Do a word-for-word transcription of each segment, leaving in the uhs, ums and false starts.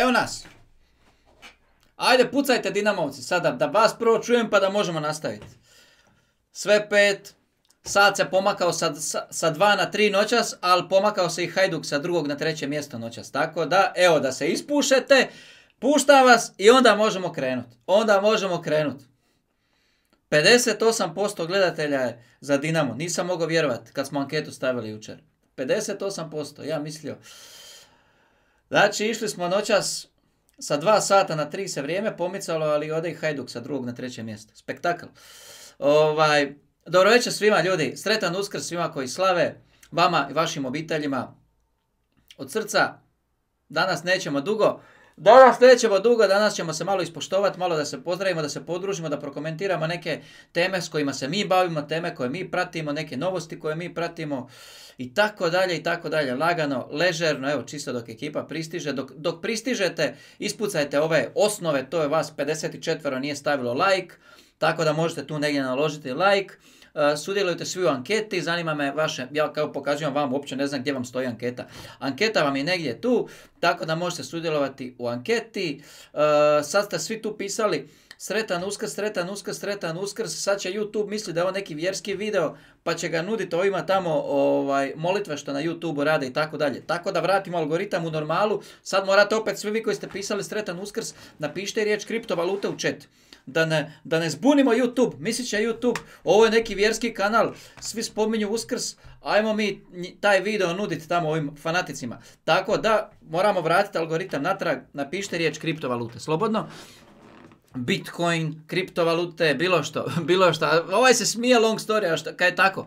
evo nas. Ajde, pucajte Dinamovci, sada da vas prvo čujem pa da možemo nastaviti. Sve pet, sad se pomakao sa, sa, sa dva na tri noćas, ali pomakao se i Hajduk sa drugog na treće mjesto noćas. Tako da, evo, da se ispušete, pušta vas i onda možemo krenuti. Onda možemo krenuti. pedeset osam posto gledatelja je za Dinamo. Nisam mogao vjerovati kad smo anketu stavili jučer. pedeset osam posto, ja mislio. Znači, išli smo noćas sa dva sata na tri se vrijeme pomicalo, ali ode i Hajduk sa drugog na treće mjesto. Spektakl. Ovaj, dobro večer svima ljudi. Sretan Uskrs svima koji slave. Vama i vašim obiteljima. Od srca. Danas nećemo dugo. Danas nećemo dugo, danas ćemo se malo ispoštovati, malo da se pozdravimo, da se podružimo, da prokomentiramo neke teme s kojima se mi bavimo, teme koje mi pratimo, neke novosti koje mi pratimo i tako dalje i tako dalje. Lagano, ležerno, evo čisto dok ekipa pristiže. Dok, dok pristižete, ispucajte ove osnove, to je vas pedeset četiri nije stavilo like, tako da možete tu negdje naložiti like. Uh, sudjelujte svi u anketi, zanima me vaše, ja kao pokazujem vam, uopće ne znam gdje vam stoji anketa. Anketa vam je negdje tu, tako da možete sudjelovati u anketi. Uh, sad ste svi tu pisali sretan Uskrs, sretan Uskrs, sretan Uskrs, sad će YouTube misli da je ovo neki vjerski video, pa će ga nuditi ovima tamo ovaj, molitve što na YouTube rade i tako dalje. Tako da vratimo algoritam u normalu, sad morate opet svi vi koji ste pisali sretan Uskrs, napišite riječ kriptovalute u chat. Da ne, da ne zbunimo YouTube, mislit će YouTube, ovo je neki vjerski kanal, svi spominju Uskrs, ajmo mi taj video nuditi tamo ovim fanaticima. Tako da moramo vratiti algoritam natrag, napišite riječ kriptovalute, slobodno. Bitcoin, kriptovalute, bilo što, bilo što. Ovaj se smije long story, a što, kaj je tako?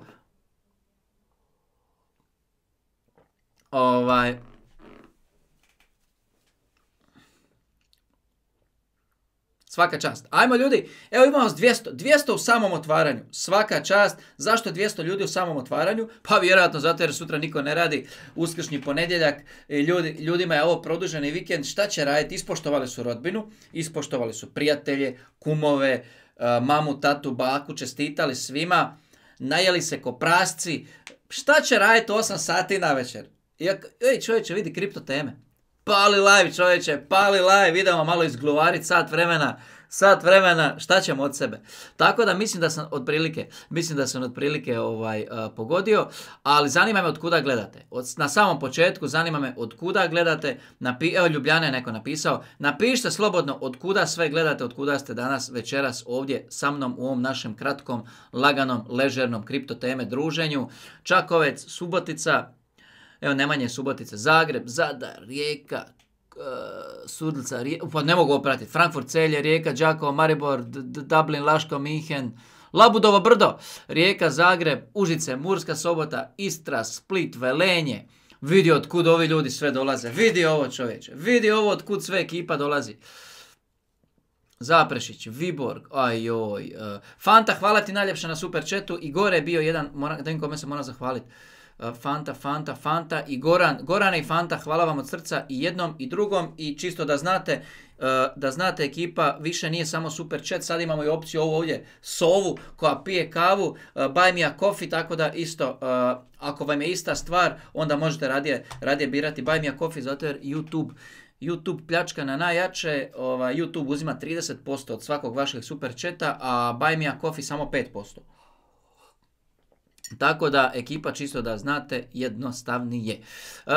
Ovaj... Svaka čast. Ajmo ljudi, evo imamo dvjesto, dvjesto u samom otvaranju. Svaka čast. Zašto dvjesto ljudi u samom otvaranju? Pa vjerojatno zato jer sutra niko ne radi, uskršnji ponedjeljak, ljudi, ljudima je ovo produženi vikend, šta će raditi? Ispoštovali su rodbinu, ispoštovali su prijatelje, kumove, mamu, tatu, baku, čestitali svima, najeli se ko prasci. Šta će raditi osam sati na večer? Ej čovječe, vidi kripto teme. Pali live čovječe, pali live, idemo malo izgluvariti sat vremena, sat vremena, šta ćemo od sebe. Tako da mislim da sam otprilike, mislim da sam otprilike ovaj, uh, pogodio, ali zanima me od kuda gledate. Od, na samom početku zanima me od kuda gledate, napi, evo Ljubljana je neko napisao, napišite slobodno od kuda sve gledate, od kuda ste danas večeras ovdje sa mnom u ovom našem kratkom, laganom, ležernom kripto teme druženju. Čakovec, Subotica, evo Nemanje, Subotica, Zagreb, Zadar, Rijeka, uh, Sudlica, Rijeka, pa ne mogu opratiti, Frankfurt, Celje, Rijeka, Đakovo, Maribor, D D Dublin, Laško, Minhen, Labudovo brdo, Rijeka, Zagreb, Užice, Murska Sobota, Istra, Split, Velenje. Vidi od kud ovi ljudi sve dolaze, vidi ovo čovječe, vidi ovo od kud sve ekipa dolazi. Zaprešić, Viborg, ajoj, uh, Fanta, hvala ti najljepša na super chatu i gore je bio jedan, moram, da im kome se moram zahvaliti. Fanta, Fanta, Fanta i Goran. Gorane i Fanta, hvala vam od srca i jednom i drugom i čisto da znate, da znate ekipa, više nije samo super chat, sad imamo i opciju ovo ovdje, Sovu koja pije kavu, buy me a coffee, tako da isto, ako vam je ista stvar, onda možete radije, radije birati buy me a coffee, zato jer YouTube YouTube pljačka na najjače, ovaj, YouTube uzima trideset posto od svakog vašeg super chata, a buy me a coffee samo pet posto. Tako da, ekipa, čisto da znate, jednostavnije. Uh,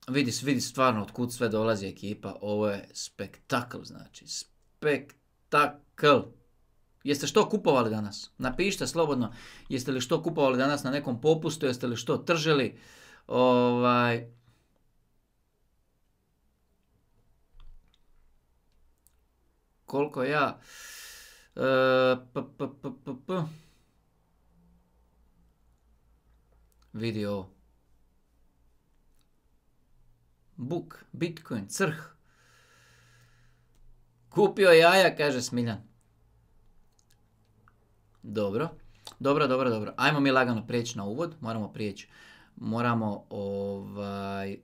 vidi, vidi stvarno od kud sve dolazi ekipa. Ovo je spektakl, znači. Spektakl. Jeste što kupovali danas? Napišite slobodno. Jeste li što kupovali danas na nekom popustu? Jeste li što tržili? Ovaj... Koliko ja... Uh, p, p, p, p, p. Vidi ovo. Buk, Bitcoin, crh. Kupio jaja, kaže Smiljan. Dobro. Dobro, dobro, dobro. Ajmo mi lagano prijeći na uvod. Moramo prijeći. Moramo ovaj...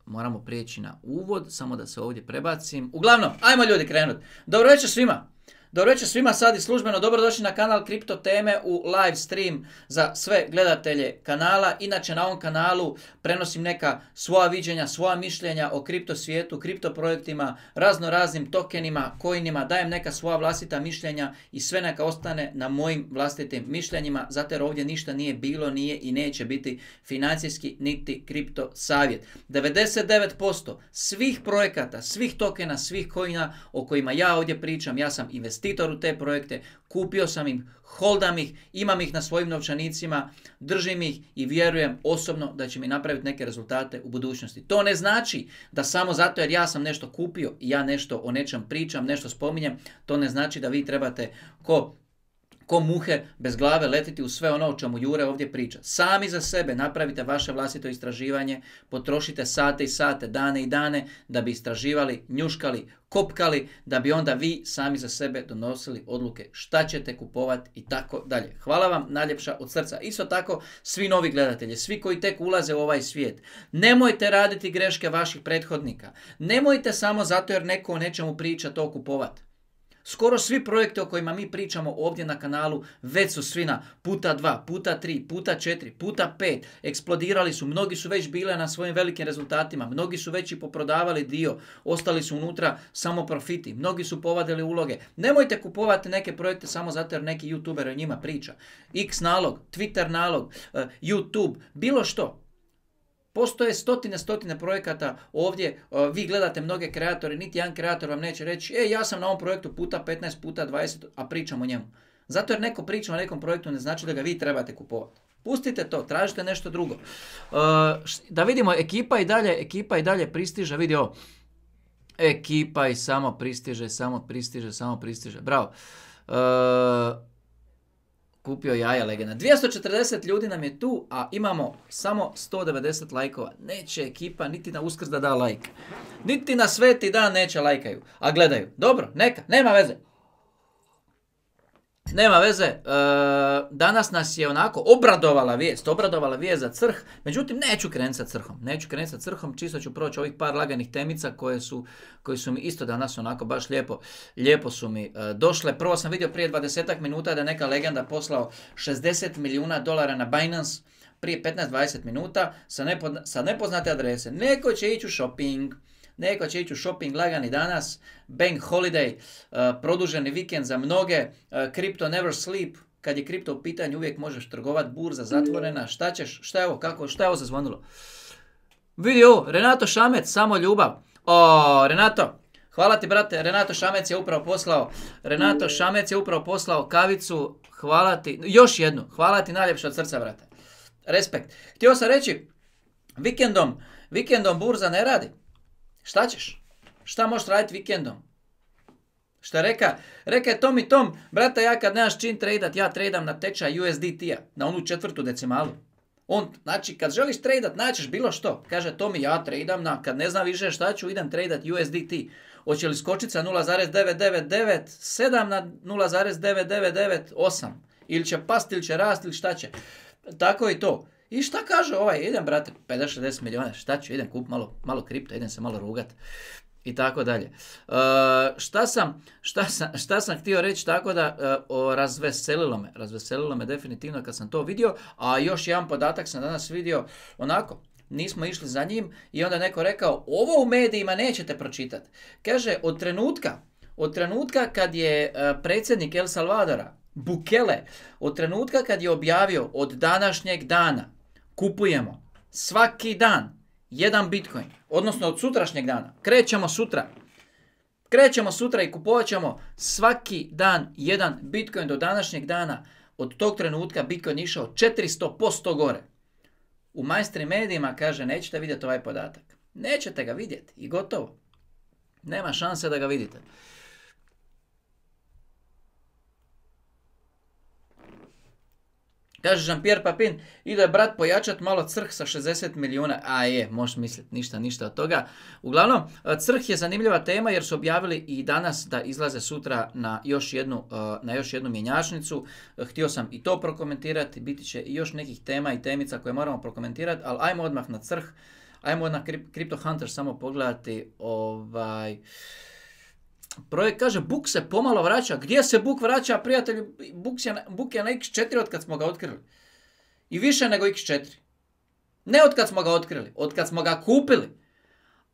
Moramo prijeći na uvod. Samo da se ovdje prebacim. Uglavnom, ajmo ljudi krenuti. Dobro večer svima. Dobro večer svima, sad i službeno dobrodošli na kanal Kripto teme u live stream za sve gledatelje kanala. Inače na ovom kanalu prenosim neka svoja viđenja, svoja mišljenja o kripto svijetu, kripto projektima, razno raznim tokenima, coinima, dajem neka svoja vlastita mišljenja i sve neka ostane na mojim vlastitim mišljenjima, zato jer ovdje ništa nije bilo, nije i neće biti financijski niti kripto savjet. devedeset devet posto svih projekata, svih tokena, svih coina o kojima ja ovdje pričam, ja sam investitor u te projekte, kupio sam ih, holdam ih, imam ih na svojim novčanicima, držim ih i vjerujem osobno da će mi napraviti neke rezultate u budućnosti. To ne znači da samo zato jer ja sam nešto kupio i ja nešto o nečem pričam, nešto spominjem, to ne znači da vi trebate ko ko muhe bez glave letiti u sve ono o čemu Jure ovdje priča. Sami za sebe napravite vaše vlastito istraživanje, potrošite sate i sate, dane i dane da bi istraživali, njuškali, kopkali, da bi onda vi sami za sebe donosili odluke šta ćete kupovati i tako dalje. Hvala vam najljepša od srca. Isto tako svi novi gledatelji, svi koji tek ulaze u ovaj svijet, nemojte raditi greške vaših prethodnika. Nemojte samo zato jer neko o nečemu priča to kupovati. Skoro svi projekti o kojima mi pričamo ovdje na kanalu već su svi na puta dva, puta tri, puta četiri, puta pet. Eksplodirali su, mnogi su već bile na svojim velikim rezultatima, mnogi su već i poprodavali dio, ostali su unutra samo profiti, mnogi su povadili uloge. Nemojte kupovati neke projekte samo zato jer neki youtuber o njima priča. X nalog, Twitter nalog, YouTube, bilo što. Postoje stotine, stotine projekata ovdje, vi gledate mnoge kreatore, niti jedan kreator vam neće reći e, ja sam na ovom projektu puta petnaest, puta dvadeset, a pričam o njemu. Zato jer neko priča o nekom projektu ne znači da ga vi trebate kupovati. Pustite to, tražite nešto drugo. Da vidimo, ekipa i dalje, ekipa i dalje pristiže, vidi ovo. Ekipa i samo pristiže, samo pristiže, samo pristiže. Bravo. Kupio jaja legenda. dvjesto četrdeset ljudi nam je tu, a imamo samo sto devedeset lajkova. Neće ekipa niti na Uskrs da da lajk. Niti na sveti dan neće lajkaju, a gledaju. Dobro, neka, nema veze. Nema veze, e, danas nas je onako obradovala vijest, obradovala vijest za crh, međutim neću krenuti sa crhom, neću krenuti sa crhom, čisto ću proći ovih par laganih temica koje su, koji su mi isto danas onako baš lijepo, lijepo su mi e, došle. Prvo sam vidio prije dvadesetak minuta da je neka legenda poslao šezdeset milijuna dolara na Binance, prije petnaest dvadeset minuta sa, nepo, sa nepoznate adrese. Neko će ići u shopping. Neko će ići u shopping lagani danas, bank holiday, uh, produženi vikend za mnoge, uh, crypto never sleep, kad je kripto u pitanju uvijek možeš trgovati, burza zatvorena, šta ćeš, šta je ovo, kako, šta je ovo zazvonilo? Vidi ovo, Renato Šamec, samo ljubav. O, Renato, hvala ti brate, Renato Šamec je upravo poslao, Renato Šamec je upravo poslao kavicu, hvala ti, još jednu, hvala ti najljepše od srca brate. Respekt. Htio sam reći, vikendom, vikendom burza ne radi. Šta ćeš? Šta možeš raditi vikendom? Šta reka? Reka je Tom i Tom, brata, ja kad nemaš čin tradat, ja tradam na tečaj U S D T-a, na onu četvrtu decimalu. On, znači, kad želiš tradat, naćeš bilo što. Kaže Tomi, ja tradam na, kad ne znam više šta ću, idem tradat U S D T. Hoće li skočiti sa nula zarez devet devet devet sedam na nula zarez devet devet devet osam? Ili će pasti, ili će rasti, ili šta će? Tako i to. I šta kaže ovaj, idem brate, pedeset šezdeset milijuna, šta ću, idem kup malo, malo kripto, idem se malo rugat i tako dalje. Uh, šta, sam, šta, sam, šta sam htio reći, tako da uh, razveselilo me, razveselilo me definitivno kad sam to vidio, a još jedan podatak sam danas vidio, onako, nismo išli za njim i onda neko rekao, ovo u medijima nećete pročitati. Kaže, od trenutka, od trenutka kad je uh, predsjednik El Salvadora, Bukele, od trenutka kad je objavio od današnjeg dana, kupujemo svaki dan jedan Bitcoin, odnosno od sutrašnjeg dana, krećemo sutra, krećemo sutra i kupovat ćemo svaki dan jedan Bitcoin do današnjeg dana, od tog trenutka Bitcoin išao četiristo posto gore. U mainstream medijima kaže nećete vidjeti ovaj podatak. Nećete ga vidjeti i gotovo. Nema šanse da ga vidite. Kaže Jean-Pierre Papin, ide brat pojačat malo crh sa šezdeset milijuna. A je, možeš misliti, ništa, ništa od toga. Uglavnom, crh je zanimljiva tema jer su objavili i danas da izlaze sutra na još jednu, na još jednu mjenjačnicu. Htio sam i to prokomentirati, biti će i još nekih tema i temica koje moramo prokomentirati, ali ajmo odmah na crh. Ajmo na Crypto Hunter samo pogledati ovaj... Projekt kaže, Buk se pomalo vraća. Gdje se Buk vraća, prijatelji? Buk je, Buk je na iks četiri od kad smo ga otkrili. I više nego iks četiri. Ne od kad smo ga otkrili, od kad smo ga kupili.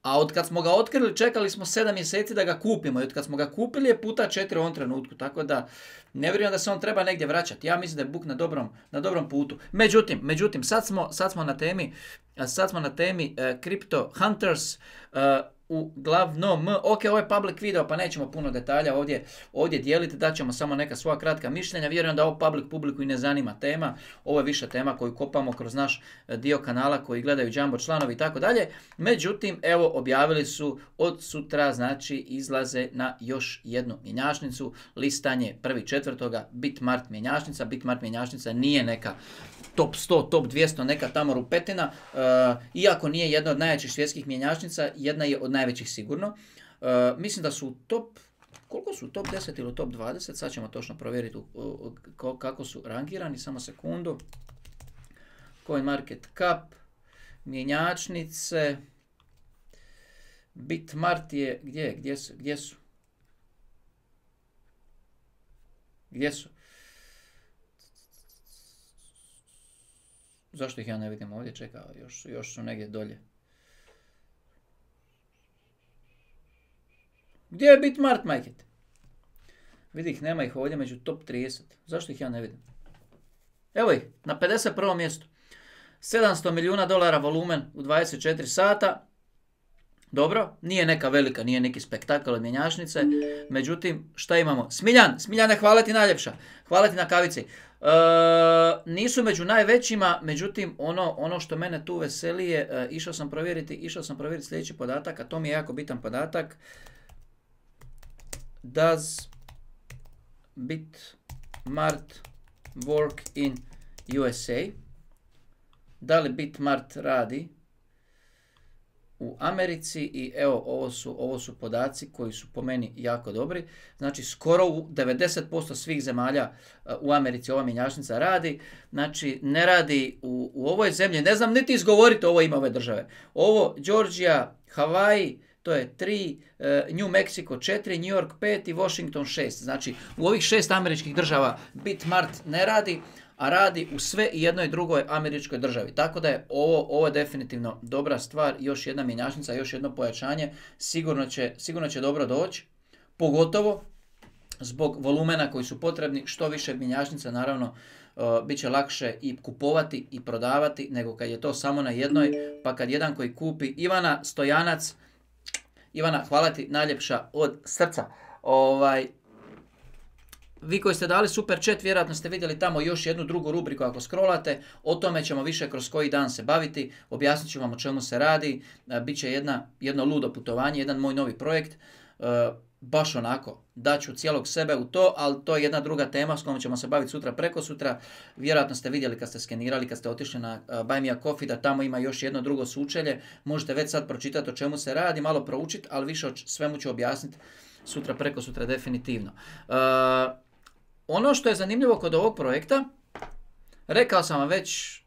A od kad smo ga otkrili, čekali smo sedam mjeseci da ga kupimo. I od kad smo ga kupili je puta četiri u ovom trenutku. Tako da ne vjerujem da se on treba negdje vraćati. Ja mislim da je Buk na dobrom, na dobrom putu. Međutim, međutim sad, smo, sad smo na temi, sad smo na temi uh, Crypto Hunters. Uh, uglavnom, ok, ovo je public video, pa nećemo puno detalja ovdje, ovdje dijeliti, daćemo samo neka svoja kratka mišljenja. Vjerujem da ovo public publiku i ne zanima tema, ovo je više tema koju kopamo kroz naš dio kanala koji gledaju Jumbo članovi i tako dalje. Međutim, evo, objavili su od sutra, znači izlaze na još jednu mjenjačnicu, listanje prvi četvrtoga Bitmart mjenjačnica. Bitmart mjenjačnica nije neka top sto, top dvjesto, neka tamo rupetina, uh, iako nije jedna od najjačih svjetskih mjenjačnica, jedna je od najvećih sigurno. Uh, mislim da su top, koliko su, top deset ili top dvadeset, sad ćemo točno provjeriti uh, uh, kako su rangirani, samo sekundu. CoinMarketCap, mjenjačnice, Bitmart je, gdje, gdje su, gdje su? Gdje su? Zašto ih ja ne vidim ovdje? Čekaj, još, još su negdje dolje. Gdje je Bitmart, majket? Vidi ih, nema ih ovdje među top trideset. Zašto ih ja ne vidim? Evo ih, na pedeset prvom mjestu. sedamsto milijuna dolara volumen u dvadeset četiri sata. Dobro, nije neka velika, nije neki spektakl od mjenjačnice. Međutim, šta imamo? Smiljan, Smiljane, hvala ti najljepša. Hvala ti na kavici. E, nisu među najvećima, međutim, ono, ono što mene tu veseli je, e, išao sam provjeriti, išao sam provjeriti sljedeći podatak, a to mi je jako bitan podatak. Does Bitmart work in U S A? Da li Bitmart radi u Americi? I evo, ovo su, ovo su podaci koji su po meni jako dobri. Znači, skoro u devedeset posto svih zemalja u Americi ova mjenjačnica radi. Znači, ne radi u, u ovoj zemlji. Ne znam niti izgovoriti ovo ime ove države. Ovo, Georgia, Hawaii, to je tri, New Mexico četiri, New York pet i Washington šest. Znači, u ovih šest američkih država Bitmart ne radi, a radi u sve i jednoj drugoj američkoj državi. Tako da je ovo, ovo je definitivno dobra stvar, još jedna mjenjačnica, još jedno pojačanje, sigurno će, sigurno će dobro doći, pogotovo zbog volumena koji su potrebni. Što više mjenjačnica, naravno, uh, bit će lakše i kupovati i prodavati, nego kad je to samo na jednoj, pa kad jedan koji kupi. Ivana Stojanac, Ivana, hvala ti najljepša od srca. Ovaj, vi koji ste dali super chat, vjerojatno ste vidjeli tamo još jednu drugu rubriku ako scrollate. O tome ćemo više kroz koji dan se baviti. Objasnit ću vam o čemu se radi. Biće jedna, jedno ludo putovanje, jedan moj novi projekt. Baš onako, daću cijelog sebe u to, ali to je jedna druga tema s kojom ćemo se baviti sutra, preko sutra. Vjerojatno ste vidjeli kad ste skenirali, kad ste otišli na Buy Me a Coffee, da tamo ima još jedno drugo sučelje. Možete već sad pročitati o čemu se radi, malo proučiti, ali više o svemu ću objasniti sutra, preko sutra definitivno. Uh, ono što je zanimljivo kod ovog projekta, rekao sam vam već,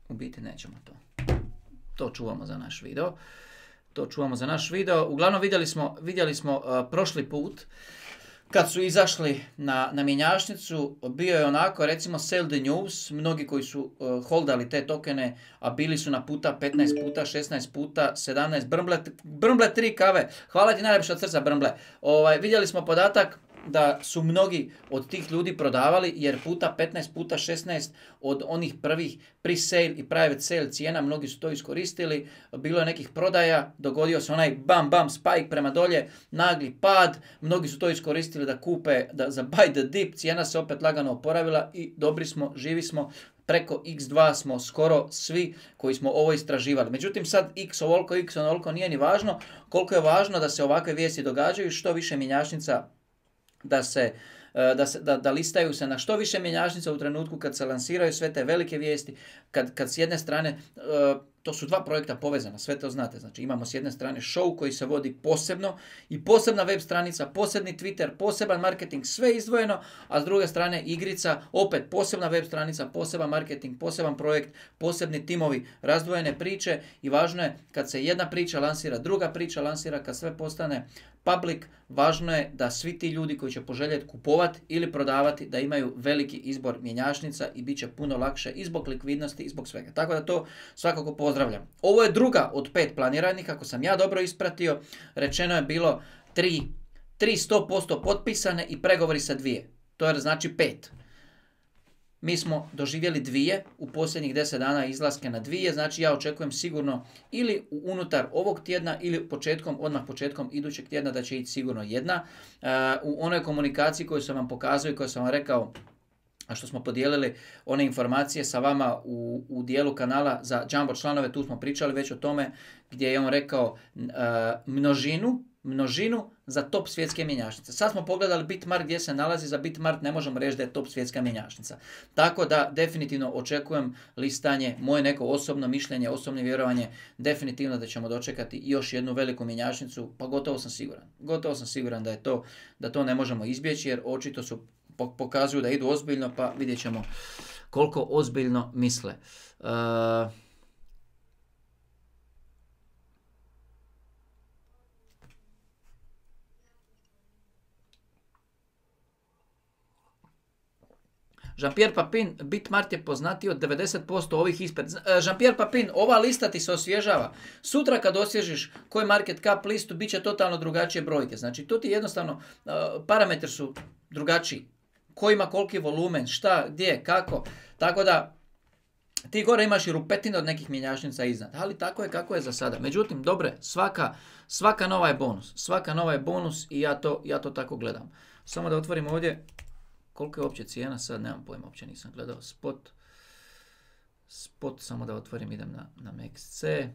u biti nećemo to. To čuvamo za naš video. To čuvamo za naš video. Uglavnom vidjeli smo, vidjeli smo uh, prošli put kad su izašli na, na mjenjačnicu, bio je onako, recimo sell the news, mnogi koji su uh, holdali te tokene, a bili su na puta petnaest puta, šesnaest puta, sedamnaest, Brmble, Brmble tri kave, hvala ti najljepša od srca Brmble. Ovaj, vidjeli smo podatak da su mnogi od tih ljudi prodavali, jer puta petnaest, puta šesnaest od onih prvih pre-sale i private sale cijena, mnogi su to iskoristili, bilo je nekih prodaja, dogodio se onaj bam bam spike prema dolje, nagli pad, mnogi su to iskoristili da kupe, da za buy the dip, cijena se opet lagano oporavila i dobri smo, živi smo. Preko iks dva smo skoro svi koji smo ovo istraživali. Međutim, sad x ovoliko, x onoliko nije ni važno, koliko je važno da se ovakve vijesti događaju, što više mjenjačnica da se Da, se, da, da listaju se na što više mjenjačnica u trenutku kad se lansiraju sve te velike vijesti, kad, kad s jedne strane uh, To su dva projekta povezana, sve to znate. Znači imamo s jedne strane show koji se vodi posebno i posebna web stranica, posebni Twitter, poseban marketing, sve izdvojeno, a s druge strane igrica, opet posebna web stranica, poseban marketing, poseban projekt, posebni timovi, razdvojene priče i važno je kad se jedna priča lansira, druga priča lansira, kad sve postane public, važno je da svi ti ljudi koji će poželjeti kupovati ili prodavati, da imaju veliki izbor mjenjačnica i bit će puno lakše i zbog likvidnosti i zbog svega. Tako da to svakako pozdravljam. Ovo je druga od pet planiranih, ako sam ja dobro ispratio. Rečeno je bilo tri, tri sto posto potpisane i pregovori sa dvije. To je znači pet. Mi smo doživjeli dvije u posljednjih deset dana izlaske na dvije, znači ja očekujem sigurno ili unutar ovog tjedna ili početkom, odmah početkom idućeg tjedna da će ići sigurno jedna. Uh, u onoj komunikaciji koju sam vam pokazao i koju sam vam rekao, a što smo podijelili one informacije sa vama u, u dijelu kanala za Jumbo članove, tu smo pričali već o tome gdje je on rekao uh, množinu, množinu za top svjetske mjenjačnice. Sad smo pogledali Bitmart gdje se nalazi, za Bitmart ne možemo reći da je top svjetska mjenjačnica. Tako da definitivno očekujem listanje, moje neko osobno mišljenje, osobno vjerovanje, definitivno da ćemo dočekati još jednu veliku mjenjačnicu, pa gotovo sam siguran. Gotovo sam siguran da je to, da to ne možemo izbjeći jer očito su pokazuju da idu ozbiljno, pa vidjet ćemo koliko ozbiljno misle. Uh, Jean-Pierre Papin, Bitmart je poznatiji od devedeset posto ovih ispred. Jean-Pierre Papin, ova lista ti se osvježava. Sutra kad osvježiš koji market cap listu, bit će totalno drugačije brojke. Znači, to ti jednostavno, uh, parametri su drugačiji. Ko ima koliki volumen, šta, gdje, kako. Tako da, ti gore imaš i rupetine od nekih mjenjačnica iznad. Ali tako je kako je za sada. Međutim, dobre, svaka, svaka nova je bonus. Svaka nova je bonus i ja to, ja to tako gledam. Samo da otvorim ovdje. Koliko je uopće cijena? Sad nemam pojma, uopće nisam gledao. Spot. Spot, samo da otvorim, idem na, na M X C.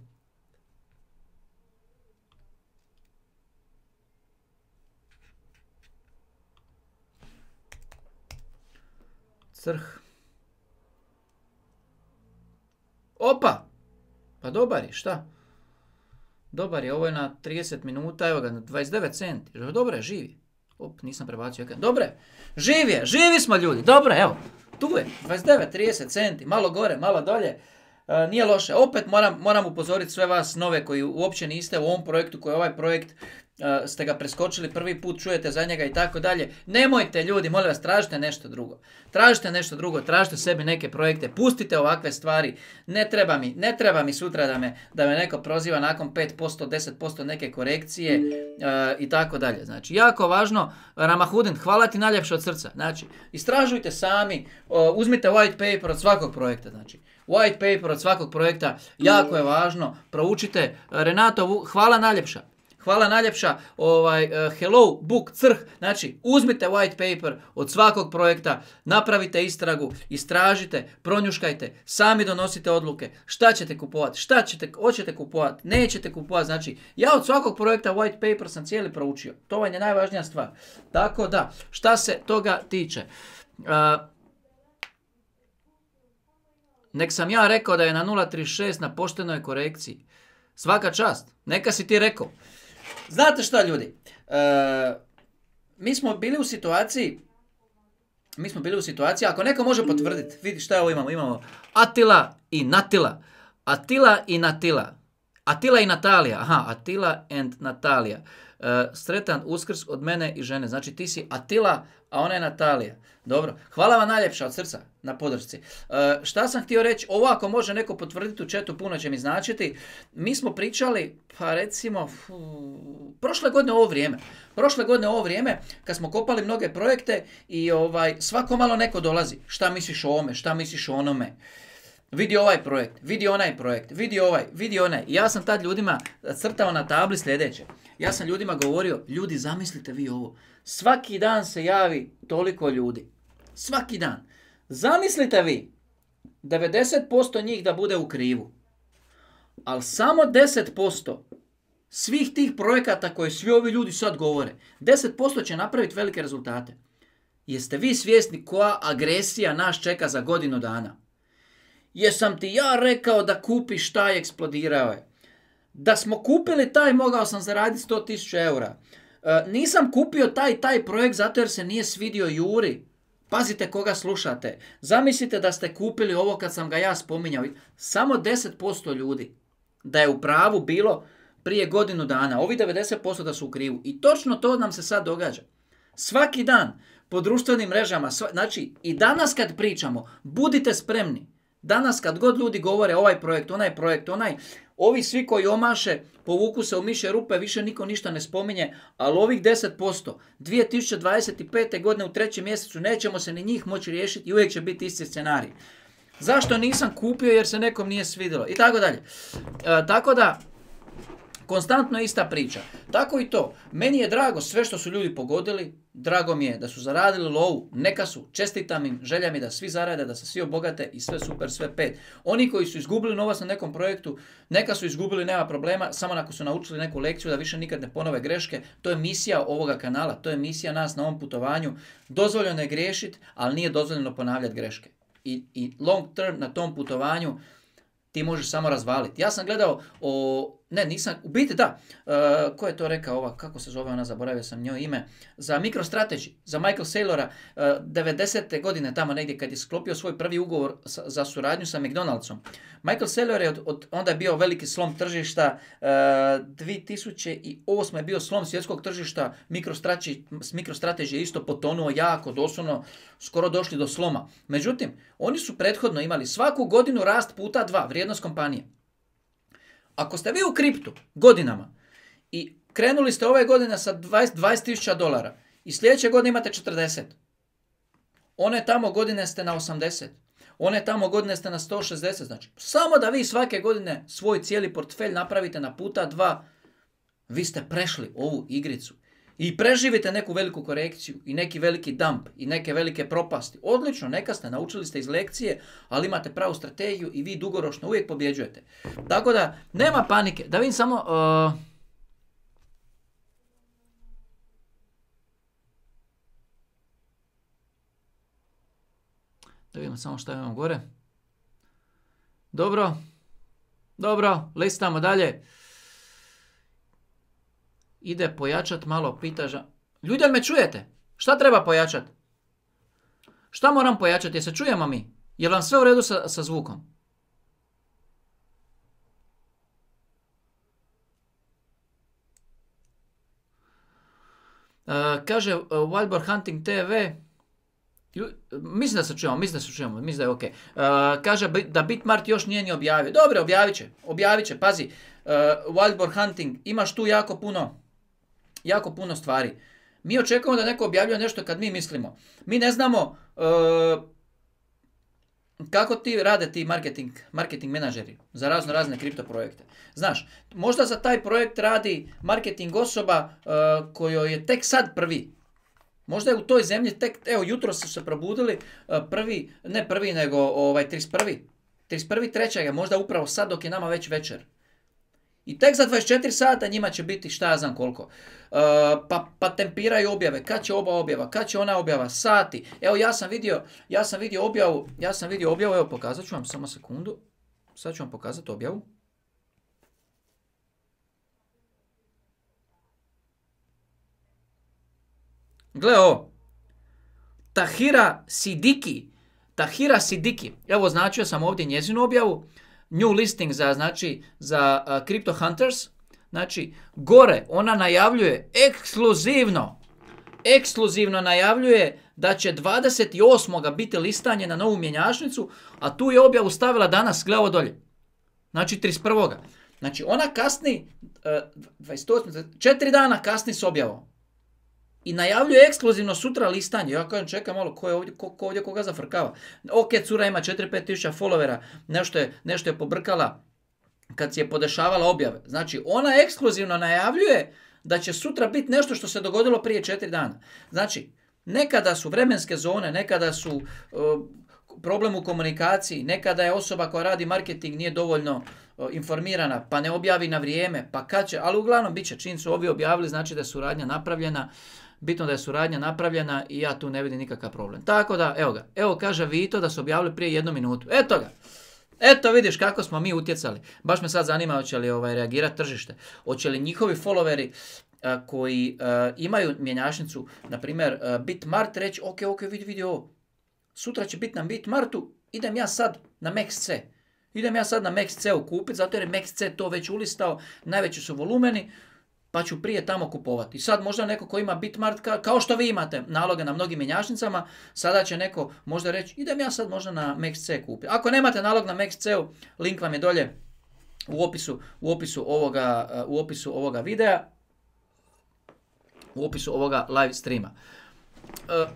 Crh. Opa! Pa dobar je, šta? Dobar je, ovo je na trideset minuta, evo ga, na dvadeset devet centi. Dobro je, živi. Op, nisam prebacio ekran. Dobre, živi je, živi smo ljudi. Dobro, evo, tu je, dvadeset devet trideset centi, malo gore, malo dolje. Uh, nije loše. Opet moram, moram upozoriti sve vas nove koji uopće niste u ovom projektu, koji je ovaj projekt, uh, ste ga preskočili prvi put, čujete za njega i tako dalje. Nemojte ljudi, molim vas, tražite nešto drugo. Tražite nešto drugo, tražite sebi neke projekte, pustite ovakve stvari. Ne treba mi, ne treba mi sutra da me, da me neko proziva nakon pet posto, deset posto neke korekcije uh, i tako dalje. Znači, jako važno, Ramahudin, hvala ti najljepše od srca. Znači, istražujte sami, uh, uzmite white paper od svakog projekta, znači. White paper od svakog projekta, jako je važno, proučite. Renato, hvala najljepša. Hvala najljepša, ovaj, uh, hello, book, crh, znači uzmite white paper od svakog projekta, napravite istragu, istražite, pronjuškajte, sami donosite odluke, šta ćete kupovati, šta ćete, hoćete kupovati, nećete kupovati, znači ja od svakog projekta white paper sam cijeli proučio, to vam je najvažnija stvar. Tako da, šta se toga tiče, uh, nek sam ja rekao da je na nula trideset šest na poštenoj korekciji. Svaka čast. Neka si ti rekao. Znate šta ljudi? E, mi smo bili u situaciji, mi smo bili u situaciji, ako neko može potvrditi, vidi šta ovo imamo, imamo Atila i Natila. Atila i Natila. Atila i Natalija. Aha, Atila and Natalija. E, sretan Uskrs od mene i žene. Znači ti si Atila, a ona je Natalija. Dobro. Hvala vam najljepša od srca na podršci. E, šta sam htio reći? Ovo ako može neko potvrditi u chatu, puno će mi značiti. Mi smo pričali, pa recimo, fu, prošle godine ovo vrijeme. Prošle godine ovo vrijeme, kad smo kopali mnoge projekte i ovaj svako malo neko dolazi. Šta misliš o ovome? Šta misliš o onome? Vidi ovaj projekt, vidi onaj projekt, vidi ovaj, vidi onaj. I ja sam tad ljudima crtao na tabli sljedeće. Ja sam ljudima govorio, ljudi zamislite vi ovo. Svaki dan se javi toliko ljudi. Svaki dan. Zamislite vi, devedeset posto njih da bude u krivu. Ali samo deset posto svih tih projekata koje svi ovi ljudi sad govore, deset posto će napraviti velike rezultate. Jeste vi svjesni koja agresija nas čeka za godinu dana? Jesam ti ja rekao da kupiš taj, eksplodirao je. Da smo kupili taj, mogao sam zaraditi sto tisuća eura. E, nisam kupio taj taj projekt zato jer se nije svidio Juri. Pazite koga slušate. Zamislite da ste kupili ovo kad sam ga ja spominjao. Samo deset posto ljudi da je u pravu bilo prije godinu dana. Ovi devedeset posto da su u krivu. I točno to nam se sad događa. Svaki dan po društvenim mrežama. Sva, znači i danas kad pričamo, budite spremni. Danas kad god ljudi govore ovaj projekt, onaj projekt, onaj, ovi svi koji omaše, povuku se u mišje rupe, više niko ništa ne spominje, ali ovih deset posto dvije tisuće dvadeset pete. godine u trećem mjesecu nećemo se ni njih moći riješiti i uvijek će biti isti scenarij. Zašto nisam kupio jer se nekom nije svidjelo i tako dalje. E, tako da, konstantno ista priča. Tako i to. Meni je drago sve što su ljudi pogodili, drago mi je da su zaradili lovu, neka su, čestitam im, želja mi da svi zarade, da se svi obogate i sve super, sve pet. Oni koji su izgubili novac na nekom projektu, neka su izgubili, nema problema, samo ako su naučili neku lekciju da više nikad ne ponove greške, to je misija ovoga kanala, to je misija nas na ovom putovanju. Dozvoljeno je griješiti, ali nije dozvoljeno ponavljati greške. I, i long term na tom putovanju ti možeš samo razvaliti. Ja sam gledao o... Ne, nisam... U biti da. Uh, ko je to rekao ova? Kako se zove ona? Zaboravio sam njoj ime. Za MicroStrategy. Za Michael Saylora. Uh, devedesete. godine tamo negdje kad je sklopio svoj prvi ugovor sa, za suradnju sa McDonald'som. Michael Saylor je od, od, onda je bio veliki slom tržišta. Uh, dvije tisuće osme. je bio slom svjetskog tržišta. MicroStrategy, MicroStrategy je isto potonuo jako, doslovno skoro došli do sloma. Međutim, oni su prethodno imali svaku godinu rast puta dva, vrijednost kompanije. Ako ste vi u kriptu godinama i krenuli ste ove godine sa dvadeset tisuća dolara i sljedeće godine imate četrdeset, one tamo godine ste na osamdeset, one tamo godine ste na sto šezdeset, znači samo da vi svake godine svoj cijeli portfelj napravite na puta dva, vi ste prešli ovu igricu. I preživite neku veliku korekciju i neki veliki dump i neke velike propasti. Odlično, neka ste, naučili ste iz lekcije, ali imate pravu strategiju i vi dugoročno uvijek pobjeđujete. Tako da, nema panike. Da vidim samo... Uh... Da vidimo samo što imamo gore. Dobro. Dobro, listamo dalje. Ide pojačat malo, pita ža... Ljudi, me čujete? Šta treba pojačat? Šta moram pojačati? Jel se čujemo mi? Je vam sve u redu sa, sa zvukom? Uh, kaže uh, Wildboar Hunting te ve. Mislim da se čujemo, mislim da se čujemo, mislim da je ok. Uh, kaže da Bitmart još nije ni objavio. Dobro, objavit će, objavit će, pazi. Uh, Wildboar Hunting, imaš tu jako puno jako puno stvari. Mi očekujemo da neko objavljuje nešto kad mi mislimo. Mi ne znamo uh, kako ti rade ti marketing, marketing menadžeri za razno razne kripto projekte. Znaš, možda za taj projekt radi marketing osoba uh, kojoj je tek sad prvi. Možda je u toj zemlji tek, evo jutro su se probudili uh, prvi, ne prvi nego ovaj, trideset prvi. trideset prvi trećeg možda upravo sad dok je nama već večer. I tek za dvadeset četiri sata njima će biti šta ja znam koliko. Uh, pa, pa tempiraju objave, kad će oba objava, kad će ona objava, sati. Evo ja sam vidio, ja sam vidio objavu, ja sam vidio objavu, evo pokazat ću vam samo sekundu. Sad ću vam pokazati objavu. Gle ovo. Tahira Sidiki. Tahira Sidiki. Evo označio sam ovdje njezinu objavu. New listing za, znači, za uh, Crypto Hunters. Znači, gore ona najavljuje ekskluzivno, ekskluzivno najavljuje da će dvadeset osmog biti listanje na novu mjenjačnicu, a tu je objavu stavila danas, gle ovo dolje. Znači, trideset prvog Znači, ona kasni, uh, dvadeset osmog četiri dana kasni s objavom. I najavljuje ekskluzivno sutra listanje. Ja kažem, čekaj malo, ko je ovdje, ko, ko ovdje koga zafrkava? Ok, cura ima četiri do pet tisuća followera, nešto je, nešto je pobrkala kad si je podešavala objave. Znači, ona ekskluzivno najavljuje da će sutra biti nešto što se dogodilo prije četiri dana. Znači, nekada su vremenske zone, nekada su uh, problem u komunikaciji, nekada je osoba koja radi marketing nije dovoljno uh, informirana, pa ne objavi na vrijeme, pa kad će, ali uglavnom bit će, čim su ovi objavili, znači da je suradnja napravljena. Bitno da je suradnja napravljena i ja tu ne vidim nikakav problem. Tako da, evo ga. Evo kaže Vito da su objavili prije jednu minutu. Eto ga. Eto vidiš kako smo mi utjecali. Baš me sad zanima hoće li ovaj, reagirati tržište. Hoće li njihovi followeri uh, koji uh, imaju mjenjačnicu, na primjer uh, Bitmart, reći ok, ok, vidi, vidi ovo. Sutra će biti na Bitmartu, idem ja sad na MaxC. Idem ja sad na MaxC-u kupiti, zato jer je MaxC to već ulistao, najveći su volumeni, pa ću prije tamo kupovati. I sad možda neko ko ima Bitmart, ka, kao što vi imate naloge na mnogim mjenjačnicama, sada će neko možda reći, idem ja sad možda na MaxC kupiti. Ako nemate nalog na MaxC-u, link vam je dolje u opisu, u opisu, ovoga, u opisu ovoga videa, u opisu ovoga live streama. Uh,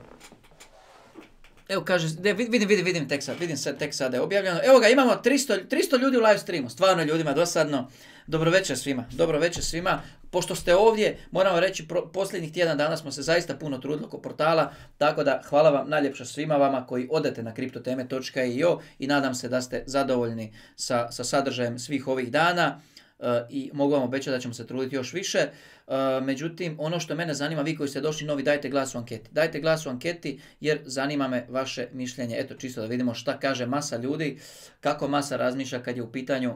Evo kaže, vidim, vidim, vidim tek sad, vidim sad tek sada je objavljeno. Evo ga, imamo tristo, tristo ljudi u live streamu, stvarno ljudima dosadno. Dobro večer svima, dobro večer svima. Pošto ste ovdje, moramo reći, pro, posljednjih tjedan dana smo se zaista puno trudili oko portala, tako da hvala vam najljepša svima vama koji odete na kriptoteme točka i o i nadam se da ste zadovoljni sa, sa sadržajem svih ovih dana. Uh, i mogu vam obećati da ćemo se truditi još više. Uh, međutim, ono što mene zanima, vi koji ste došli novi, dajte glas u anketi. Dajte glas u anketi jer zanima me vaše mišljenje. Eto, čisto da vidimo šta kaže masa ljudi, kako masa razmišlja kad je u pitanju,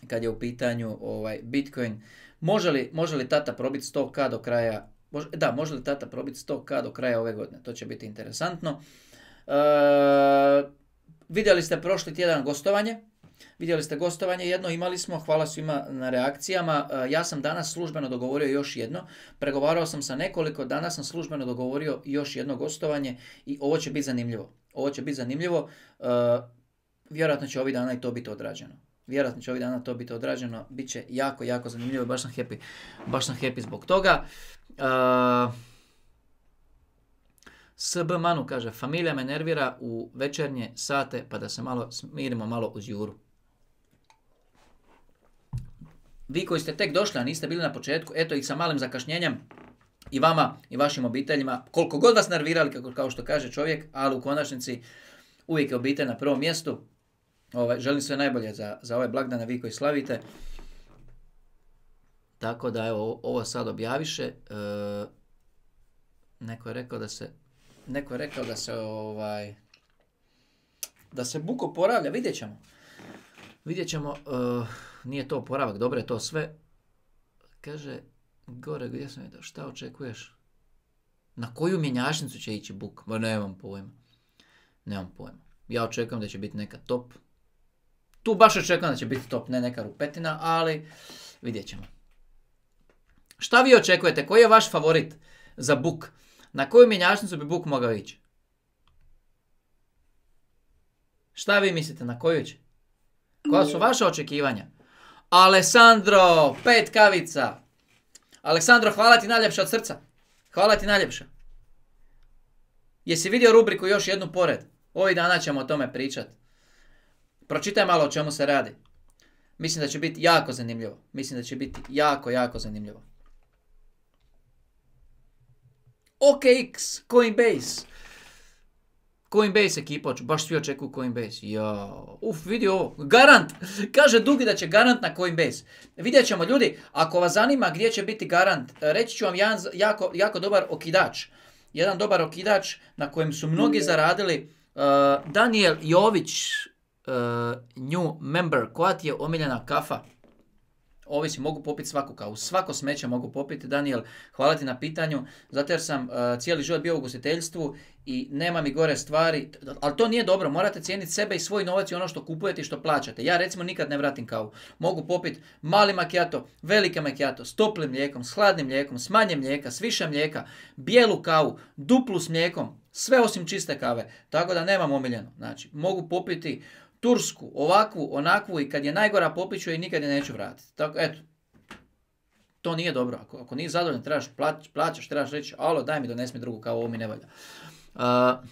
kad je u pitanju ovaj, Bitcoin. Može li, može li tata probiti sto ka do kraja, može, da, može li tata probiti sto ka do kraja ove godine? To će biti interesantno. Uh, vidjeli ste prošli tjedan gostovanje. Vidjeli ste gostovanje jedno, imali smo, hvala svima na reakcijama. Ja sam danas službeno dogovorio još jedno. Pregovarao sam sa nekoliko, danas sam službeno dogovorio još jedno gostovanje i ovo će biti zanimljivo. Ovo će biti zanimljivo. Vjerojatno će ovih dana i to biti odrađeno. Vjerojatno će ovih dana to biti odrađeno. Biće jako, jako zanimljivo i baš sam happy, baš sam happy zbog toga. Uh, S B Manu kaže, familija me nervira u večernje sate pa da se malo smirimo malo uz Juru. Vi koji ste tek došli, a niste bili na početku, eto ih sa malim zakašnjenjem i vama i vašim obiteljima, koliko god vas nervirali, kako, kao što kaže čovjek, ali u konačnici uvijek je obitelj na prvom mjestu. Ovaj, želim sve najbolje za, za ove blagdane, vi koji slavite. Tako da evo, ovo sad objaviše. E, neko je rekao da se Neko je rekao da se ovaj da se buk oporavlja, vidjet ćemo. Vidjet ćemo, uh, nije to oporavak, dobro je to sve. Kaže, gore gdje sam vidio, šta očekuješ? Na koju mjenjačnicu će ići buk? Ba nemam pojma. Nemam pojma. Ja očekujem da će biti neka top. Tu baš očekujem da će biti top, ne neka rupetina, ali vidjet ćemo. Šta vi očekujete? Koji je vaš favorit za buk? Na koju mjenjačnicu bi buk mogao ići? Šta vi mislite, na koju će? Koja su vaša očekivanja? Alessandro, pet kavica. Aleksandro, hvala ti najljepša od srca. Hvala ti najljepša. Jesi vidio rubriku još jednu pored? Ovih dana ćemo o tome pričati. Pročitaj malo o čemu se radi. Mislim da će biti jako zanimljivo. Mislim da će biti jako, jako zanimljivo. O K X, Coinbase. Coinbase ekipa, baš svi očekuju Coinbase. Jao, uf, vidi ovo, garant. Kaže Dugi da će garant na Coinbase. Vidjet ćemo, ljudi, ako vas zanima gdje će biti garant, reći ću vam jedan jako, jako dobar okidač. Jedan dobar okidač na kojem su mnogi zaradili. Uh, Daniel Jović, uh, new member, koja ti je omiljena kafa? Ovisi, mogu popiti svaku kavu, svako smeće mogu popiti. Daniel, hvala ti na pitanju, zato jer sam uh, cijeli život bio u ugostiteljstvu i nema mi gore stvari, ali to nije dobro, morate cijeniti sebe i svoj novac i ono što kupujete i što plaćate. Ja recimo nikad ne vratim kavu, mogu popiti mali macchiato, velike macchiato, s toplim mlijekom, s hladnim mlijekom, s manje mlijeka, s više mlijeka, bijelu kavu, duplu s mlijekom, sve osim čiste kave, tako da nemam omiljeno. Znači, mogu popiti tursku, ovakvu, onakvu i kad je najgora popit ću i nikad je neću vratiti. Tako, eto, to nije dobro. Ako, ako nije zadovoljan, trebaš plać, plaćaš, trebaš reći, alo, daj mi, donesi mi drugu kavu, ovo mi ne valja. Uh,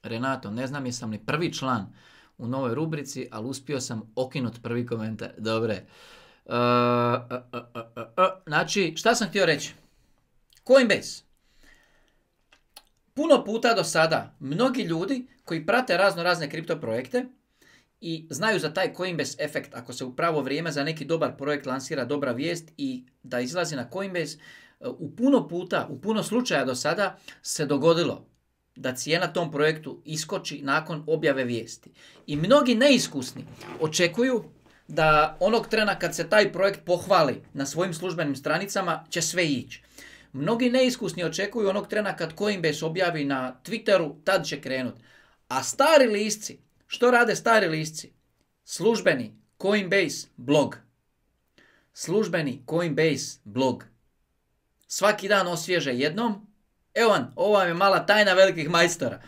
Renato, ne znam jesam li prvi član u novoj rubrici, ali uspio sam okinut prvi komentar. Dobre. Uh, uh, uh, uh, uh. Znači, šta sam htio reći? Coinbase. Puno puta do sada mnogi ljudi koji prate razno razne kripto projekte i znaju za taj Coinbase efekt, ako se u pravo vrijeme za neki dobar projekt lansira dobra vijest i da izlazi na Coinbase, u puno puta, u puno slučaja do sada se dogodilo da cijena tom projektu iskoči nakon objave vijesti. I mnogi neiskusni očekuju da onog trena kad se taj projekt pohvali na svojim službenim stranicama će sve ići. Mnogi neiskusni očekuju onog trena kad Coinbase objavi na Twitteru, tad će krenut. A stari lisci, što rade stari lisci? Službeni Coinbase blog. Službeni Coinbase blog. Svaki dan osvježe jednom. Evo vam, ovo vam je mala tajna velikih majstora.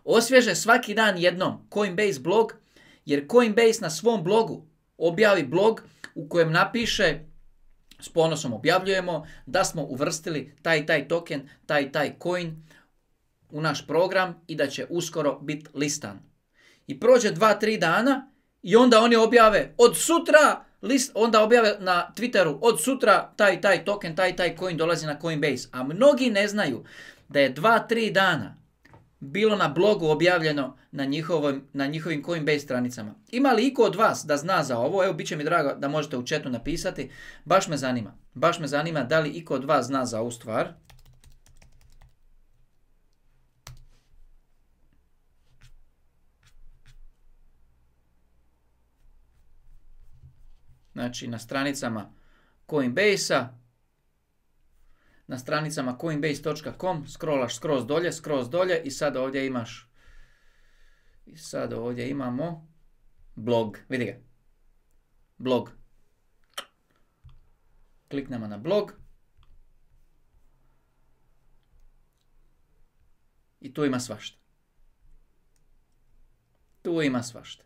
Osvježe svaki dan jednom Coinbase blog, jer Coinbase na svom blogu objavi blog u kojem napiše, s ponosom objavljujemo, da smo uvrstili taj taj token, taj taj coin u naš program i da će uskoro biti listan. I prođe dva, tri dana i onda oni objave od sutra, list, onda objave na Twitteru od sutra taj taj token, taj taj coin dolazi na Coinbase. A mnogi ne znaju da je dva, tri dana bilo na blogu objavljeno na, njihovim, na njihovim Coinbase stranicama. Ima li iko od vas da zna za ovo? Evo, bit će mi drago da možete u chatu napisati. Baš me zanima. Baš me zanima da li iko od vas zna za ovu stvar. Znači, na stranicama Coinbase-a, na stranicama coinbase točka com, scrollaš skroz dolje, skroz dolje i sad ovdje imaš, i sad ovdje imamo blog, vidi ga, blog. Kliknemo na blog i tu ima svašta. Tu ima svašta.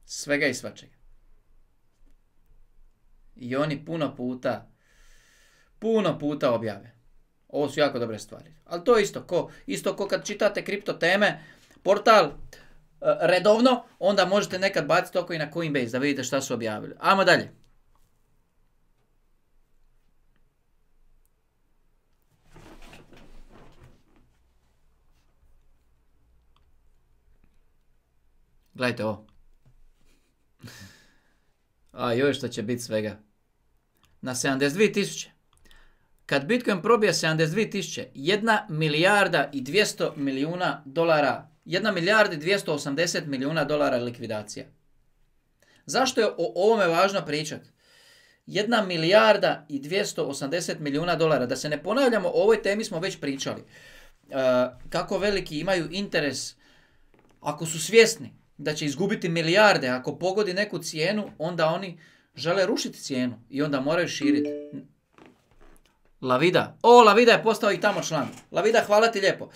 Svega i svačega. I oni puno puta, puno puta objave. Ovo su jako dobre stvari. Ali to je isto ko, isto ko kad čitate kripto teme, portal uh, redovno, onda možete nekad baciti oko i na Coinbase da vidite šta su objavili. Ajmo dalje. Gledajte ovo. A joj, što će biti svega. Na sedamdeset dvije tisuće. Kad Bitcoin probije sedamdeset dvije tisuće, jedna milijarda i dvjesto milijuna dolara, jedna milijarda i dvjesto osamdeset milijuna dolara likvidacija. Zašto je o ovome važno pričati? Jedna milijarda i dvjesto osamdeset milijuna dolara. Da se ne ponavljamo, o ovoj temi smo već pričali. Uh, kako veliki imaju interes, ako su svjesni da će izgubiti milijarde, ako pogodi neku cijenu, onda oni žele rušiti cijenu i onda moraju širiti. Lavida. O, Lavida je postao i tamo član. Lavida, hvala ti lijepo. Uh,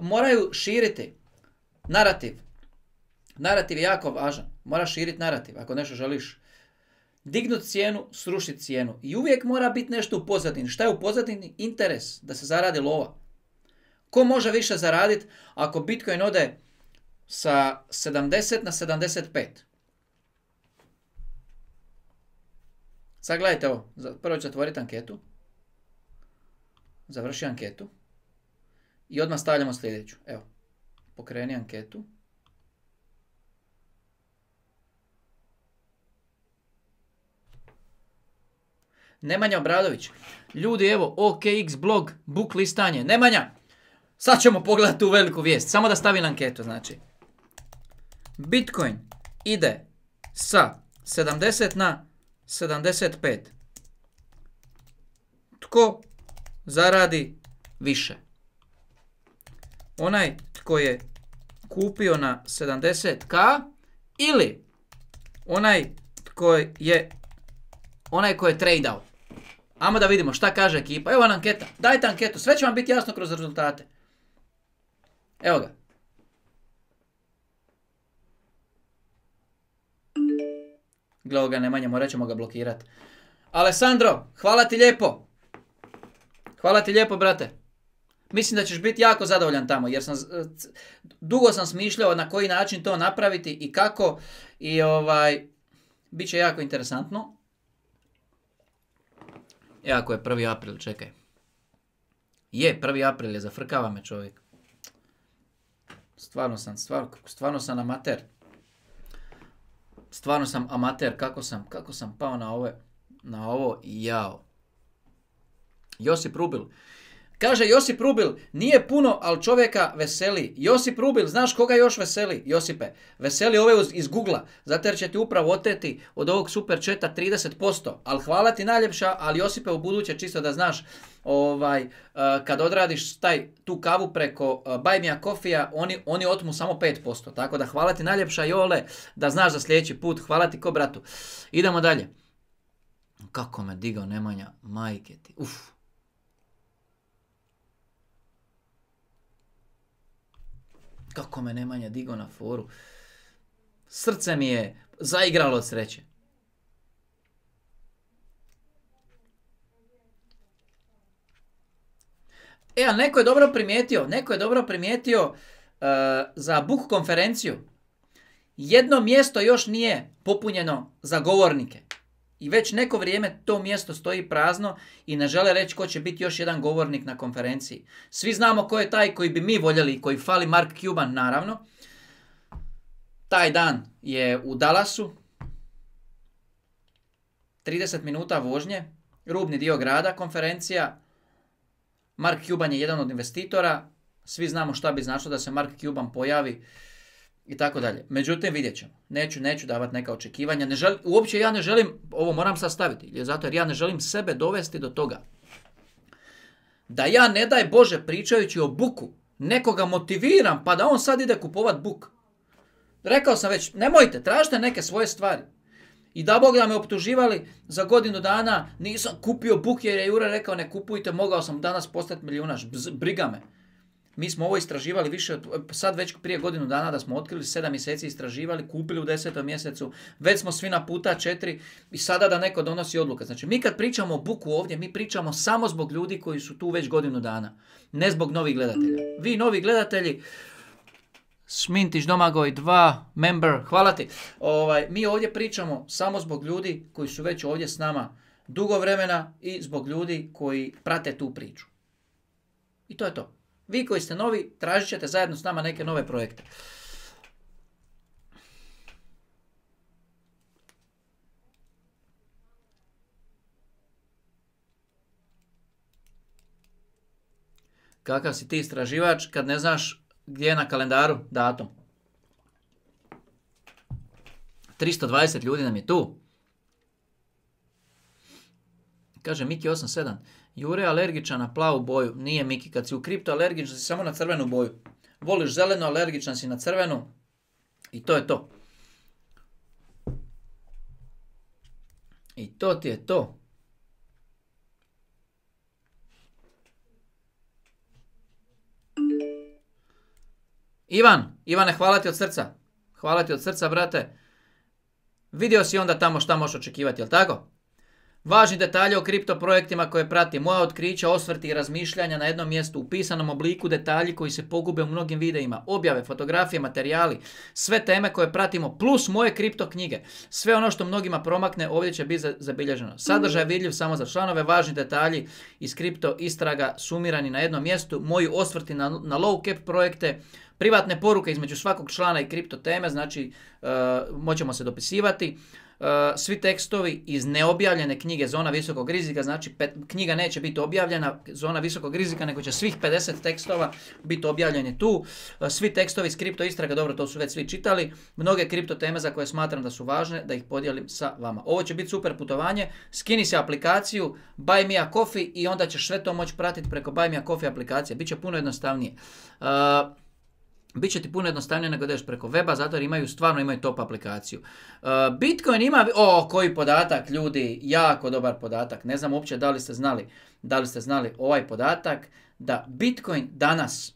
moraju širiti narativ. Narativ je jako važan. Moraš širiti narativ ako nešto želiš. Dignut cijenu, srušiti cijenu. I uvijek mora biti nešto u pozadini. Šta je u pozadini? Interes da se zaradi lova. Ko može više zaraditi ako Bitcoin ode sa sedamdeset na sedamdeset pet? Sad gledajte ovo. Prvo ću otvoriti anketu. Završi anketu. I odmah stavljamo sljedeću. Evo. Pokreni anketu. Nemanja Obradović. Ljudi, evo, O K X blog, book listanje. Nemanja, sad ćemo pogledati tu veliku vijest. Samo da stavim anketu, znači. Bitcoin ide sa sedamdeset na sedamdeset pet. Tko zaradi više? Onaj tko je kupio na sedamdeset ka ili onaj tko je onaj tko je tradeao? Ajmo da vidimo šta kaže ekipa. Evo vam anketa. Dajte anketu. Sve će vam biti jasno kroz rezultate. Evo ga. Gle ga Nemanja, morat ćemo ga blokirati. Alessandro, hvala ti lijepo. Hvala ti lijepo, brate. Mislim da ćeš biti jako zadovoljan tamo, jer sam dugo sam smišljao na koji način to napraviti i kako. I ovaj, bit će jako interesantno. Jako je prvi april, čekaj. Je, prvi april je, zafrkava me čovjek. Stvarno sam, stvarno, stvarno sam amater. Stvarno sam amater, kako sam, kako sam pao na ove. na ovo, jao. Josip Rubil. Kaže Josip Rubil, nije puno, ali čovjeka veseli. Josip Rubil, znaš koga još veseli? Josipe, veseli ove iz Google-a, zato jer će ti upravo oteti od ovog super chata trideset posto. Ali hvala ti najljepša, ali Josipe u buduće čisto da znaš, ovaj, uh, kad odradiš taj, tu kavu preko uh, Buy Me a Coffee-a, oni, oni otmu samo pet posto. Tako da hvala ti najljepša Jole, da znaš za sljedeći put. Hvala ti ko bratu. Idemo dalje. Kako me digao Nemanja, majke ti. Uf. Kako me Nemanja digao na foru. Srce mi je zaigralo od sreće. E, ali neko je dobro primijetio, neko je dobro primijetio uh, za Book konferenciju. Jedno mjesto još nije popunjeno za govornike. I već neko vrijeme to mjesto stoji prazno i ne žele reći ko će biti još jedan govornik na konferenciji. Svi znamo ko je taj koji bi mi voljeli i koji fali, Mark Cuban naravno. Taj dan je u Dallasu. trideset minuta vožnje, rubni dio grada konferencija. Mark Cuban je jedan od investitora. Svi znamo šta bi značilo da se Mark Cuban pojavi. I tako dalje. Međutim, vidjet ćemo. Neću, neću davati neka očekivanja. Ne želim, uopće ja ne želim, ovo moram sastaviti, zato jer ja ne želim sebe dovesti do toga. Da ja, ne daj Bože, pričajući o buku, nekoga motiviram, pa da on sad ide kupovat buk. Rekao sam već, nemojte, tražite neke svoje stvari. I da Bog da me optuživali za godinu dana, nisam kupio buk jer je Jure rekao ne kupujte, mogao sam danas postati milijunaš, briga me. Mi smo ovo istraživali više, od, sad već prije godinu dana da smo otkrili, sedam mjeseci istraživali, kupili u desetom mjesecu, već smo svi na puta četiri i sada da neko donosi odluke. Znači mi kad pričamo o buku ovdje, mi pričamo samo zbog ljudi koji su tu već godinu dana, ne zbog novih gledatelja. Vi novi gledatelji, Šmintić Domagoj dva, member, hvala ti. Ovaj, mi ovdje pričamo samo zbog ljudi koji su već ovdje s nama dugo vremena i zbog ljudi koji prate tu priču. I to je to. Vi koji ste novi, tražit ćete zajedno s nama neke nove projekte. Kakav si ti istraživač kad ne znaš gdje je na kalendaru datum? tristo dvadeset ljudi nam je tu. Kaže Miki osam sedam. Jure alergičan na plavu boju. Nije Miki, kad si u kripto alergičan si samo na crvenu boju. Voliš zelenu, alergičan si na crvenu. I to je to. I to ti je to. Ivan, Ivane, hvala ti od srca. Hvala ti od srca, brate. Vidio si onda tamo šta možeš očekivati, jel tako? Važni detalji o kripto projektima koje prati, moja otkrića, osvrti i razmišljanja na jednom mjestu, u pisanom obliku, detalji koji se pogube u mnogim videima, objave, fotografije, materijali, sve teme koje pratimo, plus moje kripto knjige. Sve ono što mnogima promakne ovdje će biti zabilježeno. Sadržaj je vidljiv samo za članove, važni detalji iz kripto istraga sumirani na jednom mjestu, moji osvrti na, na low cap projekte, privatne poruke između svakog člana i kripto teme, znači uh, moćemo se dopisivati. Uh, svi tekstovi iz neobjavljene knjige Zona visokog rizika, znači pet, knjiga neće biti objavljena Zona visokog rizika, nego će svih pedeset tekstova biti objavljeni tu. Uh, svi tekstovi iz kripto istraga, dobro, to su već svi čitali. Mnoge kripto teme za koje smatram da su važne, da ih podijelim sa vama. Ovo će biti super putovanje. Skini se aplikaciju Buy Me a Coffee i onda ćeš sve to moći pratiti preko Buy Me a Coffee aplikacije. Biće puno jednostavnije. Uh, Biće ti puno jednostavnije nego da ideš preko weba, zato jer imaju, stvarno imaju top aplikaciju. Uh, Bitcoin ima, o, koji podatak, ljudi, jako dobar podatak. Ne znam uopće da li ste znali, da li ste znali ovaj podatak, da Bitcoin danas,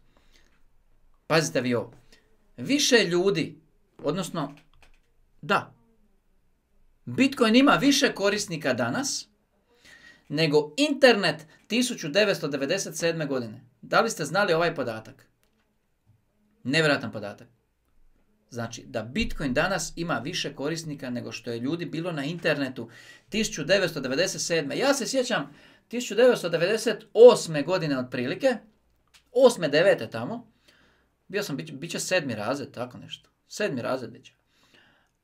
pazite vi ovo, više ljudi, odnosno, da, Bitcoin ima više korisnika danas, nego internet tisuću devetsto devedeset sedme. godine. Da li ste znali ovaj podatak? Nevjerojatan podatak. Znači da Bitcoin danas ima više korisnika nego što je ljudi bilo na internetu tisuću devetsto devedeset sedme. Ja se sjećam tisuću devetsto devedeset osme. godine otprilike, osme, devete tamo, bio sam, bit će sedmi razred, tako nešto. Sedmi razred bit će.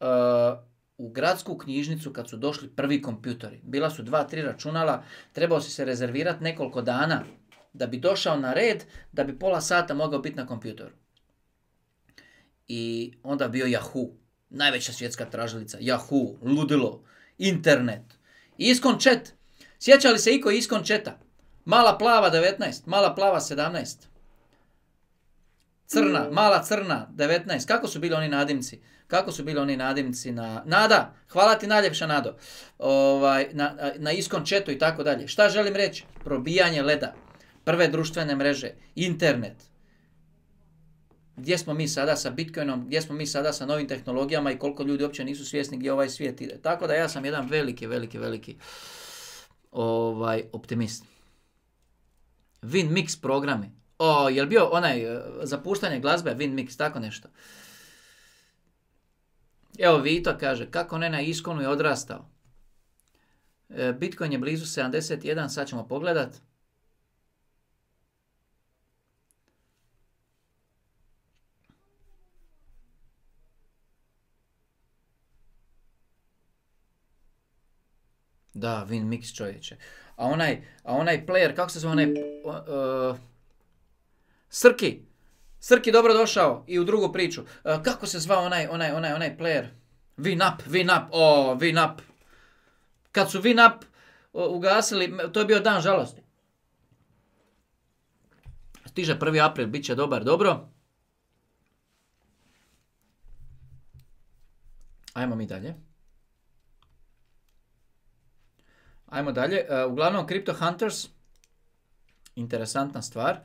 Uh, u gradsku knjižnicu kad su došli prvi kompjutori. Bila su dva, tri računala, trebao si se rezervirati nekoliko dana da bi došao na red, da bi pola sata mogao biti na kompjutoru. I onda bio Yahoo, najveća svjetska tražilica, Yahoo, ludilo, internet, Iskon chat. Sjeća li se iko Iskon chata? Mala plava devetnaest, mala plava sedamnaest. Crna, mala crna devetnaest. Kako su bili oni nadimci? Kako su bili oni nadimci na... Nada, hvala ti najljepša Nado. Ovaj, na, na Iskon chatu i tako dalje. Šta želim reći? Probijanje leda, prve društvene mreže, internet. Gdje smo mi sada sa Bitcoinom, gdje smo mi sada sa novim tehnologijama i koliko ljudi uopće nisu svjesni gdje ovaj svijet ide. Tako da ja sam jedan veliki, veliki, veliki ovaj, optimist. WinMix programi. O, je li bio onaj za puštanje glazbe, WinMix, tako nešto? Evo Vito kaže, kako ne na Iskonu je odrastao. Bitcoin je blizu sedamdeset jedan, sad ćemo pogledat. Da, WinMix čovječe. A onaj, a onaj player, kako se zove onaj... Uh, Srki. Srki dobro došao i u drugu priču. Uh, kako se zvao onaj, onaj, onaj, onaj player? WinUp, WinUp, o, oh, WinUp. Kad su WinUp uh, ugasili, to je bio dan žalosti. Stiže prvi april, bit će dobar, dobro. Ajmo mi dalje. Ajmo dalje. Uh, uglavnom, Crypto Hunters, interesantna stvar.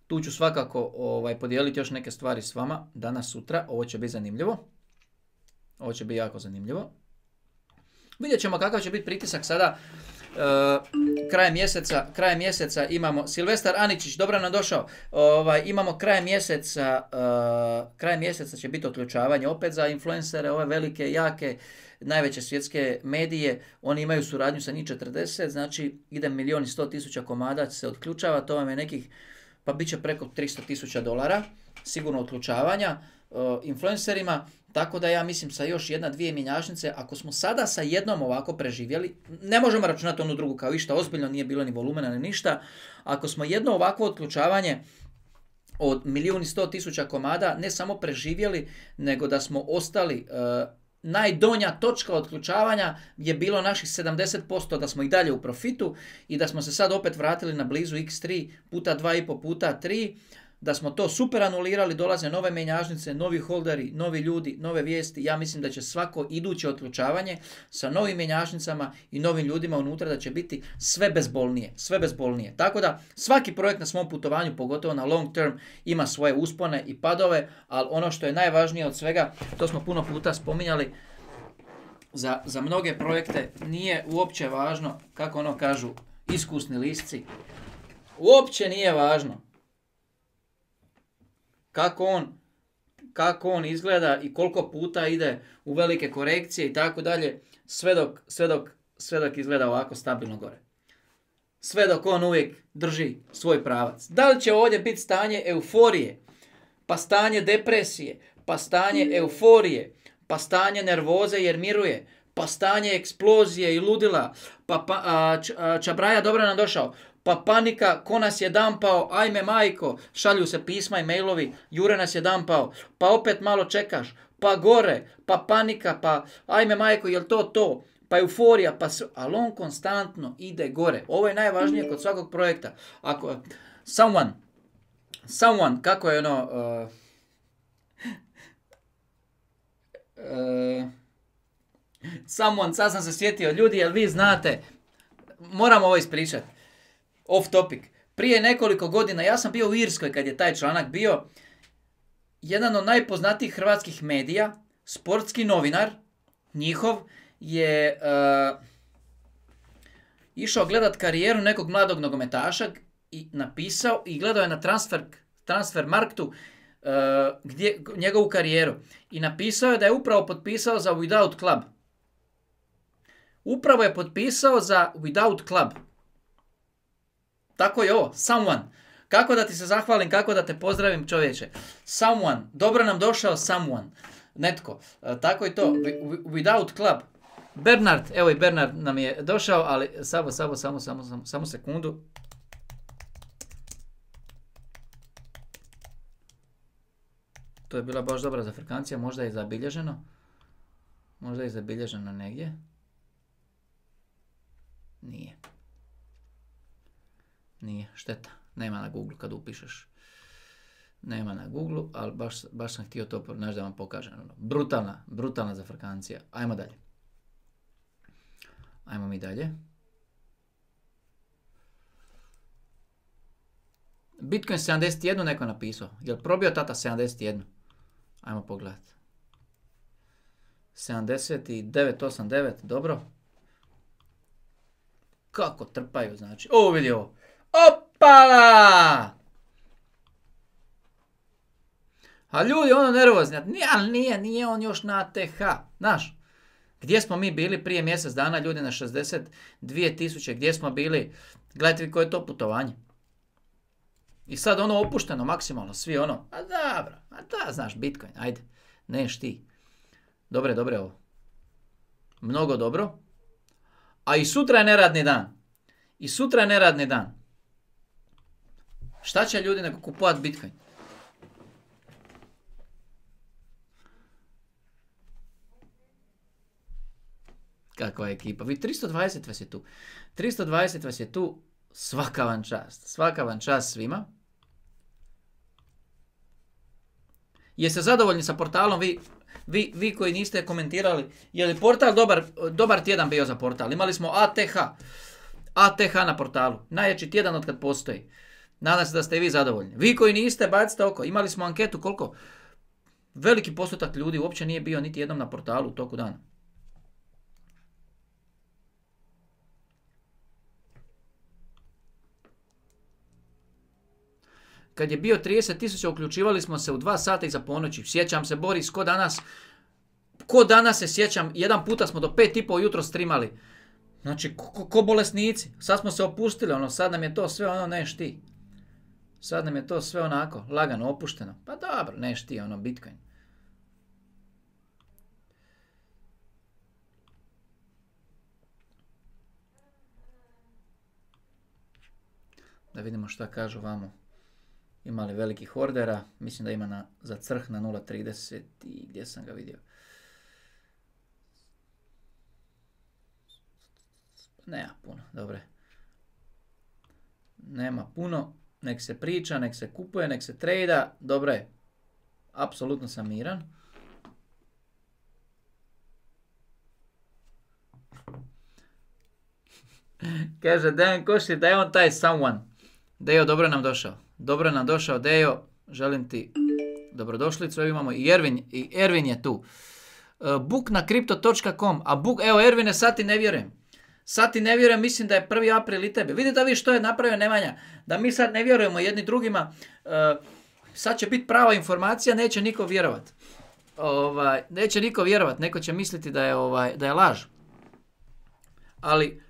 Tu ću svakako ovaj, podijeliti još neke stvari s vama danas, sutra. Ovo će biti zanimljivo. Ovo će biti jako zanimljivo. Vidjet ćemo kakav će biti pritisak sada. Uh, krajem mjeseca, krajem mjeseca imamo Silvestar Aničić, dobro nam došao. Ovaj, imamo krajem mjeseca, uh, krajem mjeseca će biti otključavanje opet za influencere, ove velike, jake, najveće svjetske medije. Oni imaju suradnju sa njih četrdeset, znači ide milijon i sto tisuća komada se otključava, to vam je nekih, pa bit će preko tristo tisuća dolara, sigurno otključavanja uh, influencerima. Tako da ja mislim sa još jedna, dvije mjenjačnice, ako smo sada sa jednom ovako preživjeli, ne možemo računati onu drugu kao išta, ozbiljno nije bilo ni volumena ni ništa, ako smo jedno ovakvo otključavanje od milijun i sto tisuća komada ne samo preživjeli, nego da smo ostali, uh, najdonja točka otključavanja je bilo naših sedamdeset posto da smo i dalje u profitu i da smo se sad opet vratili na blizu iks tri puta dva i pol puta tri, da smo to super anulirali, dolaze nove menjačnice, novi holderi, novi ljudi, nove vijesti. Ja mislim da će svako iduće otključavanje sa novim menjačnicama i novim ljudima unutra da će biti sve bezbolnije, sve bezbolnije. Tako da svaki projekt na svom putovanju, pogotovo na long term, ima svoje uspone i padove, ali ono što je najvažnije od svega, to smo puno puta spominjali, za, za mnoge projekte nije uopće važno, kako ono kažu iskusni lisci, uopće nije važno Kako on, kako on izgleda i koliko puta ide u velike korekcije i tako dalje, sve dok, sve dok, sve dok izgleda ovako stabilno gore. Sve dok on uvijek drži svoj pravac. Da li će ovdje biti stanje euforije, pa stanje depresije, pa stanje euforije, pa stanje nervoze jer miruje, pa stanje eksplozije i ludila, pa, pa a, č, a, Čabraja dobro nam došao, pa panika, ko nas je dampao, ajme majko, šalju se pisma i mailovi, Jure nas je dampao, pa opet malo čekaš, pa gore, pa panika, pa ajme majko, jel to to, pa euforija, pa sve, ali on konstantno ide gore. Ovo je najvažnije kod svakog projekta. Ako, someone, someone, kako je ono, uh, uh, someone, sad sam se sjetio, ljudi, jel vi znate, moram ovo ispričati. Off topic. Prije nekoliko godina, ja sam bio u Irskoj kad je taj članak bio, jedan od najpoznatijih hrvatskih medija, sportski novinar, njihov, je uh, išao gledat karijeru nekog mladog nogometaša i napisao i gledao je na transfer, transfer marktu uh, gdje, njegovu karijeru. I napisao je da je upravo potpisao za Without Club. Upravo je potpisao za Without Club. Tako je ovo, someone. Kako da ti se zahvalim, kako da te pozdravim, čovječe. Someone, dobro nam došao someone. netko. Uh, tako i to, without club. Bernard, evo i Bernard nam je došao, ali samo, samo, samo, samo, samo, samo sekundu. To je bila baš dobra zafrkancija, možda je zabilježeno. Možda je zabilježeno negdje. Nije. Nije, šteta. Nema na Google kad upišeš. Nema na Google, ali baš, baš sam htio to pronaći da vam pokažem. Brutalna, brutalna zafrkancija. Ajmo dalje. Ajmo mi dalje. Bitcoin sedamdeset jedan neko napisao. Jel probio tata sedamdeset jedan? Ajmo pogledati. sedamdeset devet osamdeset devet, dobro. Kako trpaju, znači. O, vidi ovo. Opala! A ljudi, ono nervozni. Nije, ali nije, nije on još na A T H. Znaš, gdje smo mi bili prije mjesec dana, ljudi na šezdeset dvije tisuće, gdje smo bili? Gledajte vi koje je to putovanje. I sad ono opušteno, maksimalno, svi ono, a dobro, a da, znaš, Bitcoin, ajde, neš ti. Dobre, dobre ovo. Mnogo dobro. A i sutra je neradni dan. I sutra je neradni dan. Šta će ljudi nego kupovat Bitcoin? Kakva je ekipa? Vi tristo dvadeset vas je tu. tristo dvadeset vas je tu. Svaka vam čast. Svaka vam čast svima. Jeste zadovoljni sa portalom? Vi, vi, vi koji niste komentirali. Je li portal dobar, dobar tjedan bio za portal? Imali smo A T H. A T H na portalu. Najjači tjedan od kad postoji. Nadam se da ste i vi zadovoljni. Vi koji niste, bacite oko. Imali smo anketu koliko? Veliki postotak ljudi uopće nije bio niti jednom na portalu u toku dana. Kad je bio trideset tisuća, uključivali smo se u dva sata iza ponoći. Sjećam se, Boris, ko danas, ko danas se sjećam, jedan puta smo do pet i pol jutro streamali. Znači, ko, ko, ko bolesnici. Sad smo se opustili, ono, sad nam je to sve ono, neš ti. Sad nam je to sve onako, lagano, opušteno. Pa dobro, neš ti, ono, Bitcoin. Da vidimo šta kažu vamo. Ima li velikih ordera? Mislim da ima na, za crh na nula trideset i gdje sam ga vidio. Nema puno, dobre. Nema puno. Nek se priča, nek se kupuje, nek se trejda. Dobro je. Apsolutno sam miran. Kaže Dejan Koši da je on taj someone. Dejo, dobro nam došao. Dobro nam došao, Dejo. Želim ti dobrodošlicu. Evo imamo i Ervin. I Ervin je tu. Uh, book na kripto točka com. A book, evo Ervine, sad ti ne vjerujem. Sad ti ne vjerujem, mislim da je prvi april i tebe. Vidite vi što je napravio Nemanja. Da mi sad ne vjerujemo jedni drugima. Uh, sad će biti prava informacija, neće niko vjerovat. Ovaj, neće niko vjerovat. Neko će misliti da je, ovaj, da je laž. Ali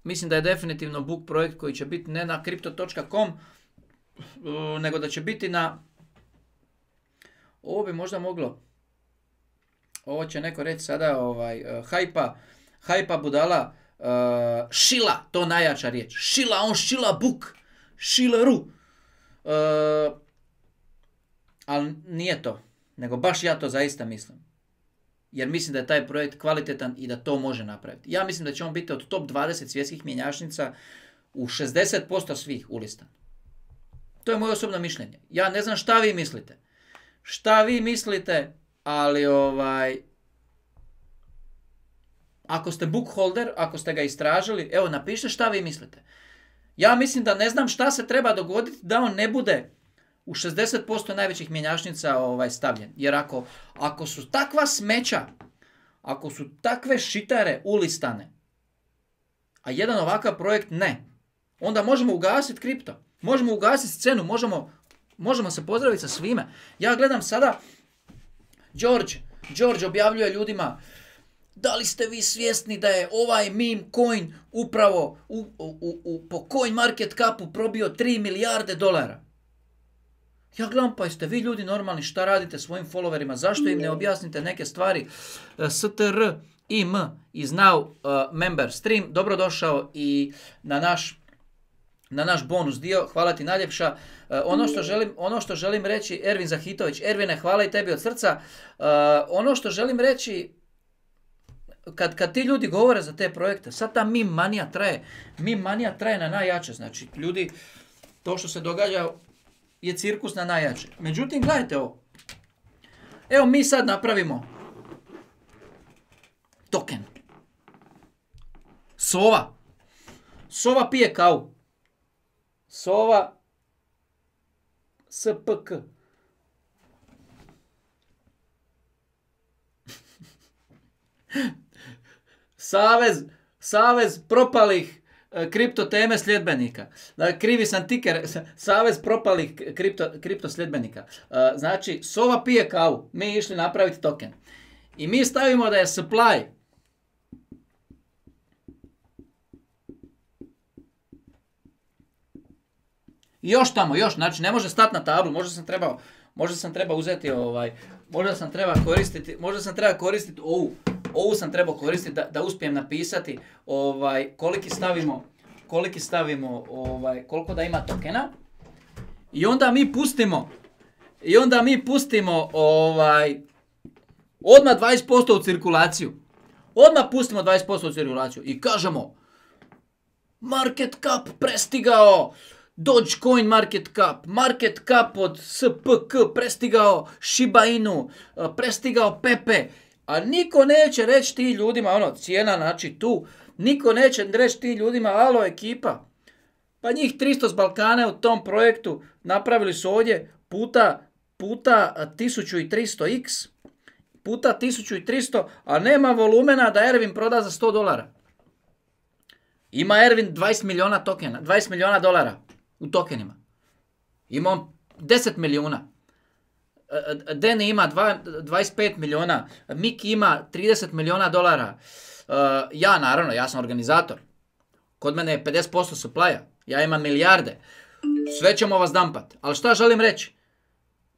mislim da je definitivno book projekt koji će biti ne na kripto točka com, uh, nego da će biti na... Ovo bi možda moglo... Ovo će neko reći sada, ovaj, uh, hajpa, hajpa budala, uh, šila, to najjača riječ. Šila, on šila book, šileru. Uh, ali nije to, nego baš ja to zaista mislim. Jer mislim da je taj projekt kvalitetan i da to može napraviti. Ja mislim da će on biti od top dvadeset svjetskih mjenjačnica u šezdeset posto svih ulistan. To je moje osobno mišljenje. Ja ne znam šta vi mislite. Šta vi mislite, ali ovaj... Ako ste book holder, ako ste ga istražili, evo napišite šta vi mislite. Ja mislim da ne znam šta se treba dogoditi da on ne bude u šezdeset posto najvećih mjenjačnica ovaj, stavljen. Jer ako, ako su takva smeća, ako su takve šitare ulistane, a jedan ovakav projekt ne, onda možemo ugasiti kripto. Možemo ugasiti scenu, možemo, možemo se pozdraviti sa svime. Ja gledam sada, George, George objavljuje ljudima, da li ste vi svjesni da je ovaj meme coin upravo u, u, u, po coin market capu probio tri milijarde dolara? Ja gledam, pa jeste vi ljudi normalni, šta radite svojim followerima, zašto im ne objasnite neke stvari? S T R I M is now uh, member stream, dobrodošao i na naš, na naš bonus dio, hvala ti najljepša. Uh, ono, što želim, ono što želim reći, Ervin Zahitović, Ervine, hvala i tebi od srca. Uh, ono što želim reći, kad, kad ti ljudi govore za te projekte, sad ta meme manija traje, meme manija traje na najjače, znači ljudi, to što se događa je cirkus na najjače. Međutim, gledajte ovo. Evo mi sad napravimo token. Sova. Sova pije kavu. Sova S P K. Savez, savez propalih kripto teme sljedbenika. Krivi sam tiker, savez propalih kripto, kripto sljedbenika. Znači, Sova pije kavu, mi išli napraviti token. I mi stavimo da je supply i još tamo, još, znači ne može stati na tablu, možda sam trebao, možda sam trebao uzeti ovaj, možda sam treba koristiti, možda sam treba koristiti ovu, ovu sam trebao koristiti da, da uspijem napisati ovaj, koliki stavimo, koliki stavimo, ovaj, koliko da ima tokena. I onda mi pustimo, i onda mi pustimo ovaj, odmah dvadeset posto u cirkulaciju. Odmah pustimo dvadeset posto u cirkulaciju i kažemo market cap prestigao Dogecoin market cap, market cap od S P K prestigao Shiba Inu, prestigao Pepe. A niko neće reći ti ljudima, ono, cijena, znači tu, niko neće reći ti ljudima, alo ekipa, pa njih tristo s Balkana u tom projektu napravili su ovdje puta, puta tisuću tristo x, puta tisuću tristo, a nema volumena da Ervin proda za sto dolara. Ima Ervin dvadeset milijuna tokena, dvadeset milijuna dolara u tokenima. Ima on deset milijuna. Deni ima dvadeset pet milijuna, Miki ima trideset milijuna dolara. Ja naravno, ja sam organizator. Kod mene je pedeset posto supply-a. Ja imam milijarde. Sve ćemo vas dampat. Ali šta želim reći?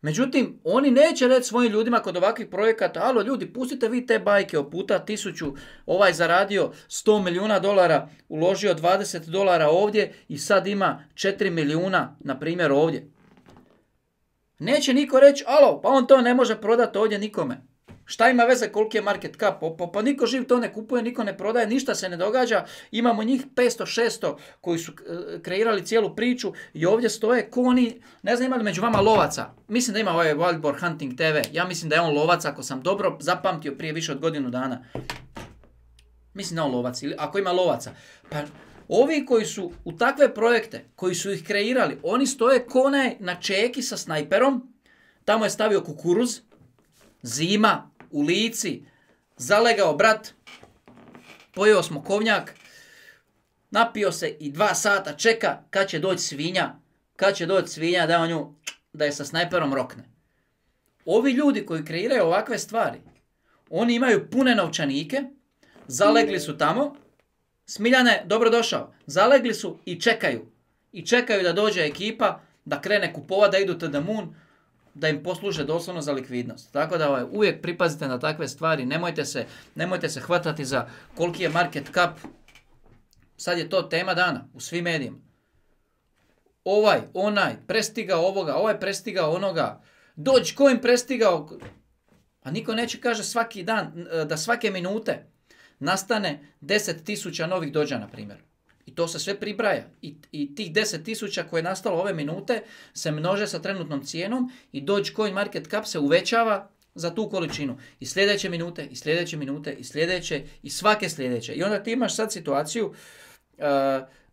Međutim, oni neće reći svojim ljudima kod ovakvih projekata, alo ljudi, pustite vi te bajke o puta tisuću, ovaj zaradio sto milijuna dolara, uložio dvadeset dolara ovdje i sad ima četiri milijuna, na primjer ovdje. Neće niko reći, alo, pa on to ne može prodati ovdje nikome. Šta ima veze koliki je market cap? Pa, pa niko živ to ne kupuje, niko ne prodaje, ništa se ne događa. Imamo njih petsto šesto koji su kreirali cijelu priču i ovdje stoje ko oni, ne znam ima li među vama lovaca. Mislim da ima ovaj Wild Boar Hunting T V. Ja mislim da je on lovac, ako sam dobro zapamtio prije više od godinu dana. Mislim da je on lovac, ili ako ima lovaca. Pa ovi koji su u takve projekte, koji su ih kreirali, oni stoje ko onaj na čeki sa snajperom. Tamo je stavio kukuruz, zima, u Lici, zalegao brat, pojeo smo kovnjak, napio se i dva sata čeka kad će doći svinja, kad će doći svinja da on nju, da je sa snajperom rokne. Ovi ljudi koji kreiraju ovakve stvari, oni imaju pune novčanike, zalegli su tamo, Smiljane, dobrodošao, zalegli su i čekaju. I čekaju da dođe ekipa, da krene kupova, da idu to the moon, da im posluže doslovno za likvidnost. Tako da ovaj, uvijek pripazite na takve stvari, nemojte se, nemojte se hvatati za koliki je market cap. Sad je to tema dana u svim medijima. Ovaj, onaj, prestigao ovoga, ovaj prestigao onoga, Dogecoin prestigao, a niko neće kaže svaki dan, da svake minute nastane deset tisuća novih dođa, na primjer. I to se sve pribraja. I, i tih deset tisuća koje je nastalo ove minute se množe sa trenutnom cijenom i Dogecoin market cap se uvećava za tu količinu. I sljedeće minute, i sljedeće minute, i sljedeće, i svake sljedeće. I onda ti imaš sad situaciju uh,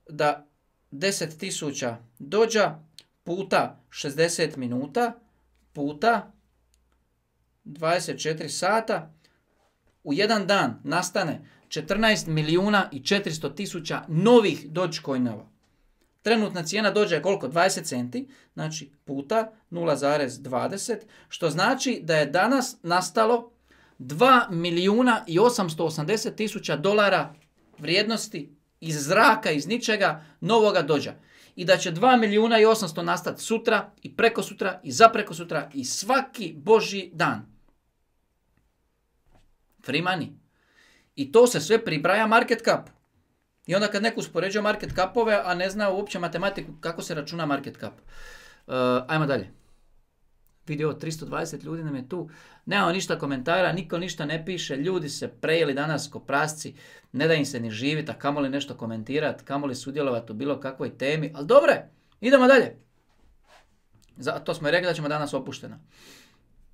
da deset tisuća dođa puta šezdeset minuta puta dvadeset četiri sata u jedan dan nastane četrnaest milijuna i četiristo tisuća novih Dogecoinova. Trenutna cijena dođe je koliko? dvadeset centi, znači puta nula zarez dvadeset, što znači da je danas nastalo dva milijuna i osamsto osamdeset tisuća dolara vrijednosti iz zraka, iz ničega, novoga dođa. i da će dva milijuna i osamsto nastati sutra i preko sutra i za preko sutra i svaki božji dan. Free money. I to se sve pribraja market capu. I onda kad neko uspoređuje market capove, a ne zna uopće matematiku kako se računa market cap. Uh, ajmo dalje. Vidio tristo dvadeset ljudi nam je tu. Nemamo ništa komentara, niko ništa ne piše. Ljudi se prejeli danas ko prasci. Ne da im se ni živiti, a kamoli nešto komentirati, kamoli sudjelovati u bilo kakvoj temi. Ali dobre, idemo dalje. Zato smo i rekli da ćemo danas opušteno.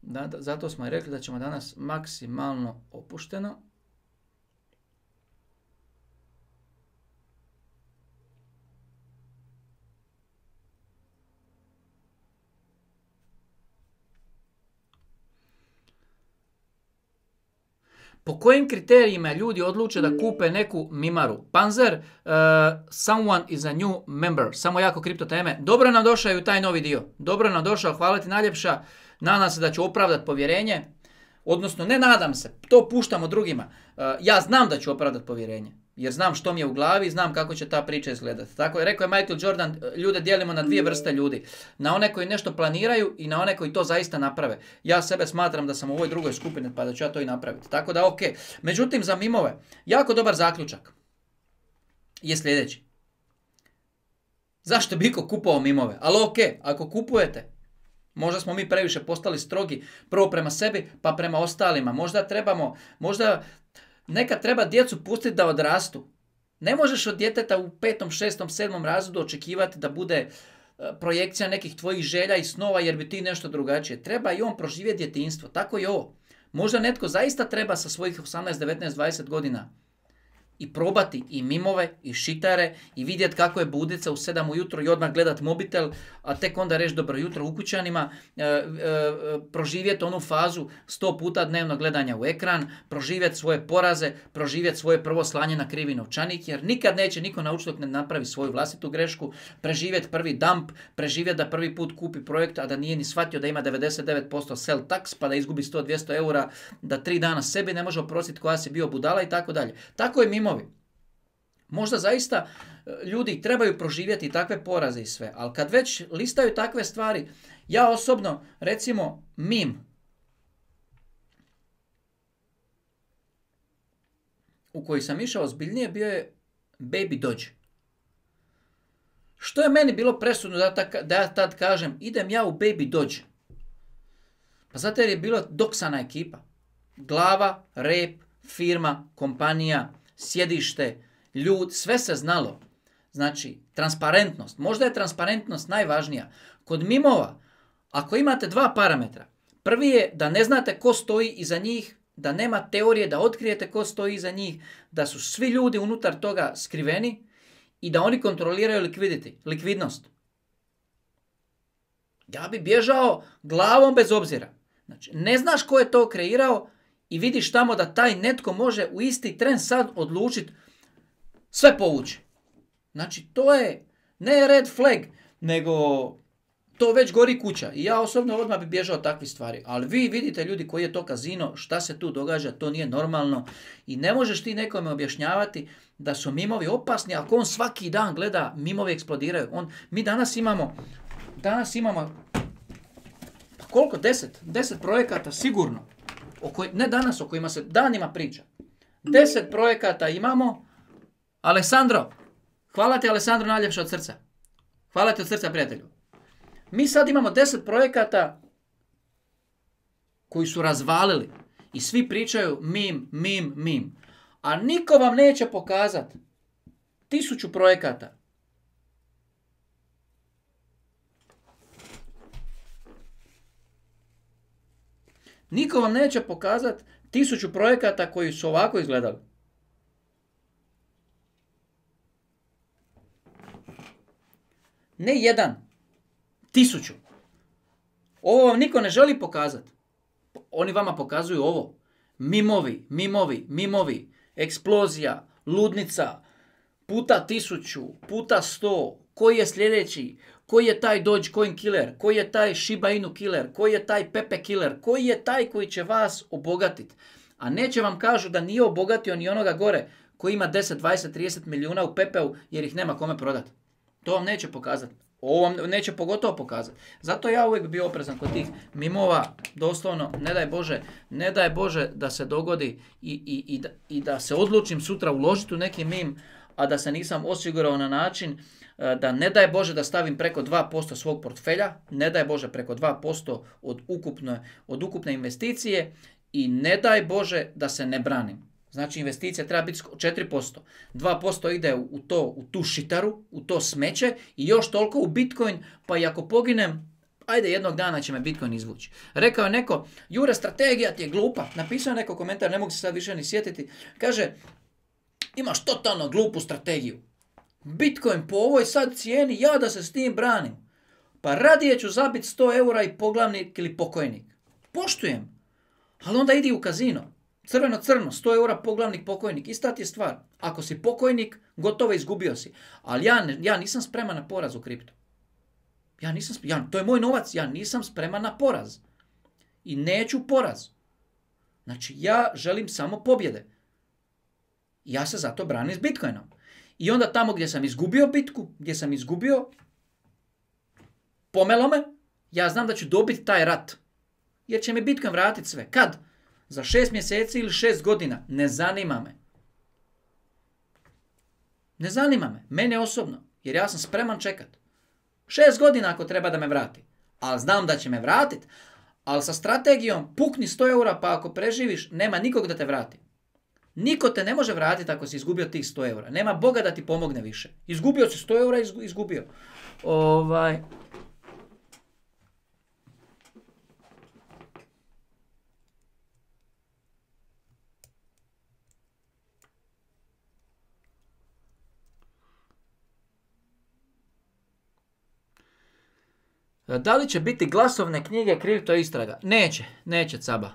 Da, da, zato smo i rekli da ćemo danas maksimalno opušteno. Po kojim kriterijima ljudi odluče da kupe neku mimaru? Panzer, uh, someone is a new member. Samo jako kripto teme. Dobro nam došao i u taj novi dio. Dobro nam došao, hvala ti najljepša. Nadam se da ću opravdati povjerenje. Odnosno, ne nadam se, to puštamo drugima. Uh, ja znam da ću opravdati povjerenje. Jer znam što mi je u glavi, znam kako će ta priča izgledati. Tako je rekao je Michael Jordan, ljude dijelimo na dvije vrste ljudi. Na one koji nešto planiraju i na one koji to zaista naprave. Ja sebe smatram da sam u ovoj drugoj skupini pa da ću ja to i napraviti. Tako da ok. Međutim, za mimove, jako dobar zaključak je sljedeći. Zašto bi iko kupovao mimove? Ali ok, ako kupujete, možda smo mi previše postali strogi, prvo prema sebi pa prema ostalima. Možda trebamo, možda... Nekad treba djecu pustiti da odrastu. Ne možeš od djeteta u petom, šestom, sedmom razredu očekivati da bude projekcija nekih tvojih želja i snova jer bi ti nešto drugačije. Treba i on proživjeti djetinjstvo. Tako i ovo. Možda netko zaista treba sa svojih osamnaest, devetnaest, dvadeset godina i probati i mimove i šitare i vidjeti kako je budica u sedam ujutro i odmah gledat mobitel, a tek onda reći dobro jutro ukućanima, e, e, proživjeti onu fazu sto puta dnevno gledanja u ekran, proživjeti svoje poraze, proživjeti svoje prvo slanje na krivi novčanik, jer nikad neće niko naučiti dok ne napravi svoju vlastitu grešku, preživjeti prvi dump, preživjeti da prvi put kupi projekt, a da nije ni shvatio da ima devedeset devet posto sell tax, pa da izgubi sto do dvjesto eura, da tri dana sebi ne može oprostiti koja si bio budala i tako dalje. Tako je mimovi. Možda zaista ljudi trebaju proživjeti takve poraze i sve, ali kad već listaju takve stvari, ja osobno, recimo, mim u koji sam išao ozbiljnije bio je Baby Doge. Što je meni bilo presudno da, ta, da ja tad kažem, idem ja u Baby Doge? Pa zato jer je bila doksana ekipa. Glava, rep, firma, kompanija, sjedište, ljud, sve se znalo. Znači, transparentnost. Možda je transparentnost najvažnija. Kod mimova, ako imate dva parametra, prvi je da ne znate ko stoji iza njih, da nema teorije da otkrijete ko stoji iza njih, da su svi ljudi unutar toga skriveni i da oni kontroliraju likvidity, likvidnost. Ja bi bježao glavom bez obzira. Znači, ne znaš ko je to kreirao i vidiš tamo da taj netko može u isti tren sad odlučiti sve povući. Znači, to je ne red flag, nego to već gori kuća. I ja osobno odmah bi bježao takvih stvari. Ali vi vidite ljudi koji je to kazino, šta se tu događa, to nije normalno. I ne možeš ti nekome objašnjavati da su mimovi opasni, ako on svaki dan gleda, mimovi eksplodiraju. On, mi danas imamo, danas imamo, pa koliko? Deset? Deset projekata sigurno. O koj, ne danas, o kojima se danima priča. Deset projekata imamo. Alessandro, hvala ti Alessandro najljepše od srca. Hvala ti od srca, prijatelju. Mi sad imamo deset projekata koji su razvalili i svi pričaju mim, mim, mim. A niko vam neće pokazati tisuću projekata. Niko vam neće pokazati tisuću projekata koji su ovako izgledali. Ne jedan, tisuću. Ovo vam niko ne želi pokazati. Oni vama pokazuju ovo. Mimovi, mimovi, mimovi, eksplozija, ludnica, puta tisuću, puta sto, koji je sljedeći, koji je taj Dogecoin killer, koji je taj Shiba Inu killer, koji je taj Pepe killer, koji je taj koji će vas obogatiti. A neće vam kažu da nije obogatio ni onoga gore koji ima deset, dvadeset, trideset milijuna u Pepeu jer ih nema kome prodati. To vam neće pokazati. Ovo vam neće pogotovo pokazati. Zato ja uvijek bio oprezan kod tih mimova, doslovno, ne daj Bože, ne daj Bože da se dogodi i, i, i, da, i da se odlučim sutra uložiti u neki mim, a da se nisam osigurao na način da ne daj Bože da stavim preko dva posto svog portfelja, ne daj Bože preko dva posto od ukupne, od ukupne investicije i ne daj Bože da se ne branim. Znači investicija treba biti četiri posto. dva posto ide u, to, u tu šitaru, u to smeće i još toliko u Bitcoin, pa i ako poginem, ajde jednog dana će me Bitcoin izvući. Rekao je neko, Jure, strategija ti je glupa. Napisao je neko komentar, ne mogu se sad više ni sjetiti. Kaže, imaš totalno glupu strategiju. Bitcoin po ovoj sad cijeni, ja da se s tim branim. Pa radije ću zabiti sto eura i poglavnik ili pokojnik. Poštujem. Ali onda idi u kazino. Crveno-crno, sto eura poglavnik pokojnik. Ista ti je stvar. Ako si pokojnik, gotovo izgubio si. Ali ja, ja nisam spreman na poraz u kriptu. Ja nisam, ja, to je moj novac. Ja nisam spreman na poraz. I neću poraz. Znači, ja želim samo pobjede. Ja se zato branim s Bitcoinom. I onda tamo gdje sam izgubio bitku, gdje sam izgubio, pomelo me, ja znam da ću dobiti taj rat. Jer će mi Bitcoin vratiti sve. Kad? Za šest mjeseci ili šest godina. Ne zanima me. Ne zanima me. Mene osobno. Jer ja sam spreman čekat. Šest godina ako treba da me vrati. Ali znam da će me vratiti. Ali sa strategijom pukni sto eura pa ako preživiš, nema nikog da te vrati. Niko te ne može vratiti ako si izgubio tih sto eura. Nema Boga da ti pomogne više. Izgubio si sto eura, izgubio. Ovaj... Da li će biti glasovne knjige kripto istraga? Neće, neće Caba.